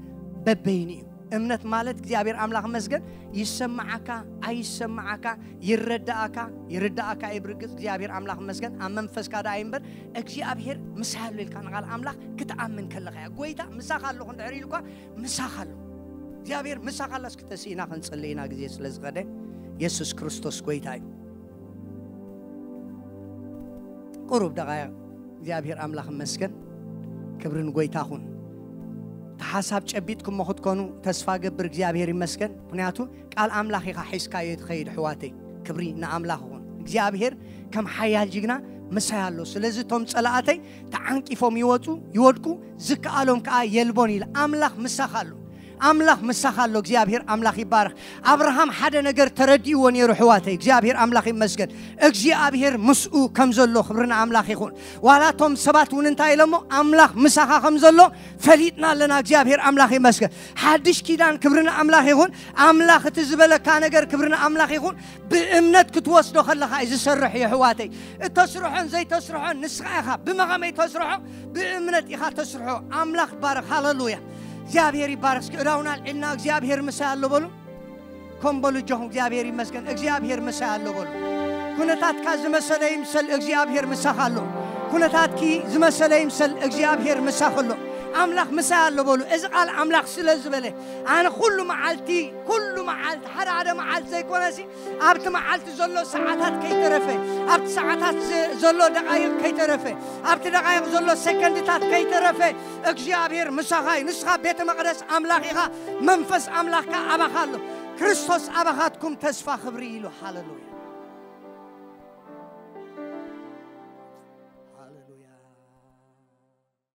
በበይኑ እዩ። እምነት ማለት እግዚኣብሔር ኣምላኽ መስገን ይሰማዓካ ኣይሰማዓካ፣ ይረዳኣካ ይርዳኣካ እዩ። ብርግጽ እግዚኣብሔር ኣምላኽ መስገን ኣብ መንፈስካ ደኣ እዩ እምበር፣ እግዚኣብሔር ምሳይ ኣሎ ኢልካ ንቓል ኣምላኽ ክትኣምን ከለኻ እያ። ጎይታ ምሳኻ ኣለኹ እንድሕር ኢሉኳ፣ ምሳኻ ኣሎ። እግዚኣብሔር ምሳኻ ኣሎ። እስኪ ተስኢና ክንጽሊ ኢና፣ ግዜ ስለ ዝኸደ። የሱስ ክርስቶስ ጎይታ እዩ። ቁሩብ ደቓይቕ እግዚኣብሔር ኣምላኽ ይመስገን። ክብሪ ንጎይታ ኹን። እቲ ሓሳብ ጨቢጥኩሞ ክትኮኑ ተስፋ ገብር። እግዚኣብሔር ይመስገን። ምኽንያቱ ቃል ኣምላኽ ኢኻ ሒዝካዮ ትኸይድ፣ ኣሕዋተይ። ክብሪ ንኣምላኽ ይኹን። እግዚኣብሔር ከም ሓያል ጅግና ምሳይ ኣሎ። ስለዚ እቶም ጸላእተይ ተዓንቂፎም ይወጹ፣ ይወድቁ፣ ዝከኣሎም ከኣ የልቦን ኢለ። ኣምላኽ ምሳኻ ኣሎ። ኣምላኽ ምሳኻ ኣሎ። እግዚኣብሔር ኣምላኽ ይባረኽ። ኣብርሃም ሓደ ነገር ተረዲእዎ ነይሩ፣ ኣሕዋተይ። እግዚኣብሔር ኣምላኽ ይመስገን። እግዚኣብሔር ምስኡ ከም ዘሎ ክብሪ ንኣምላኽ ይኹን። ዋላ እቶም ሰባት እውን እንታይ ኢሎሞ? ኣምላኽ ምሳኻ ከም ዘሎ ፈሊጥና ኣለና። እግዚኣብሔር ኣምላኽ ይመስገን። ሓድሽ ኪዳን ክብሪ ንኣምላኽ ይኹን። ኣምላኽ እቲ ዝበለካ ነገር ክብሪ ንኣምላኽ ይኹን። ብእምነት ክትወስዶ ከለኻ እዩ ዝሰርሕ እዩ፣ ኣሕዋተይ። እተስርሖን ዘይተስርሖን ንስኻ ኢኻ። ብመኸመይ ተስርሖ? ብእምነት ኢኻ ተስርሖ። ኣምላኽ ይባረኽ። ሃሌሉያ። እግዚኣብሔር ይባረኽ። እስኪ እዳውና ኣልዒልና እግዚኣብሔር ምሳይ ኣሎ በሉ። ኮም በሉ እጆኹም። እግዚኣብሔር ይመስገን። እግዚኣብሔር ምሳይ ኣሎ በሉ። ኩነታትካ ዝመሰለ ይምሰል፣ እግዚኣብሔር ምሳኻ ኣሎ። ኩነታትኪ ዝመሰለ ይምሰል፣ እግዚኣብሔር ምሳኺ ኣሎ። ኣምላኽ ምሳይ ኣሎ በሉ። እዚ ቃል ኣምላኽ ስለ ዝበለ፣ ኣነ ኩሉ መዓልቲ፣ ኩሉ መዓልቲ፣ ሓደ ሓደ መዓልቲ ዘይኮነሲ፣ ኣብቲ መዓልቲ ዘሎ ሰዓታት ከይተረፈ፣ ኣብቲ ሰዓታት ዘ-፣ ዘሎ ደቓይቕ ከይተረፈ፣ ኣብቲ ደቓይቕ ዘሎ ሰከንድታት ከይተረፈ፣ እግዚኣብሔር ምሳኻ እዩ። ንስኻ ቤተ መቕደስ ኣምላኽ ኢኻ፣ መንፈስ ኣምላኽካ ኣባኻ ኣሎ። ክርስቶስ ኣባኻትኩም ተስፋ ክብሪ ኢሉ። ሃሌሉያ።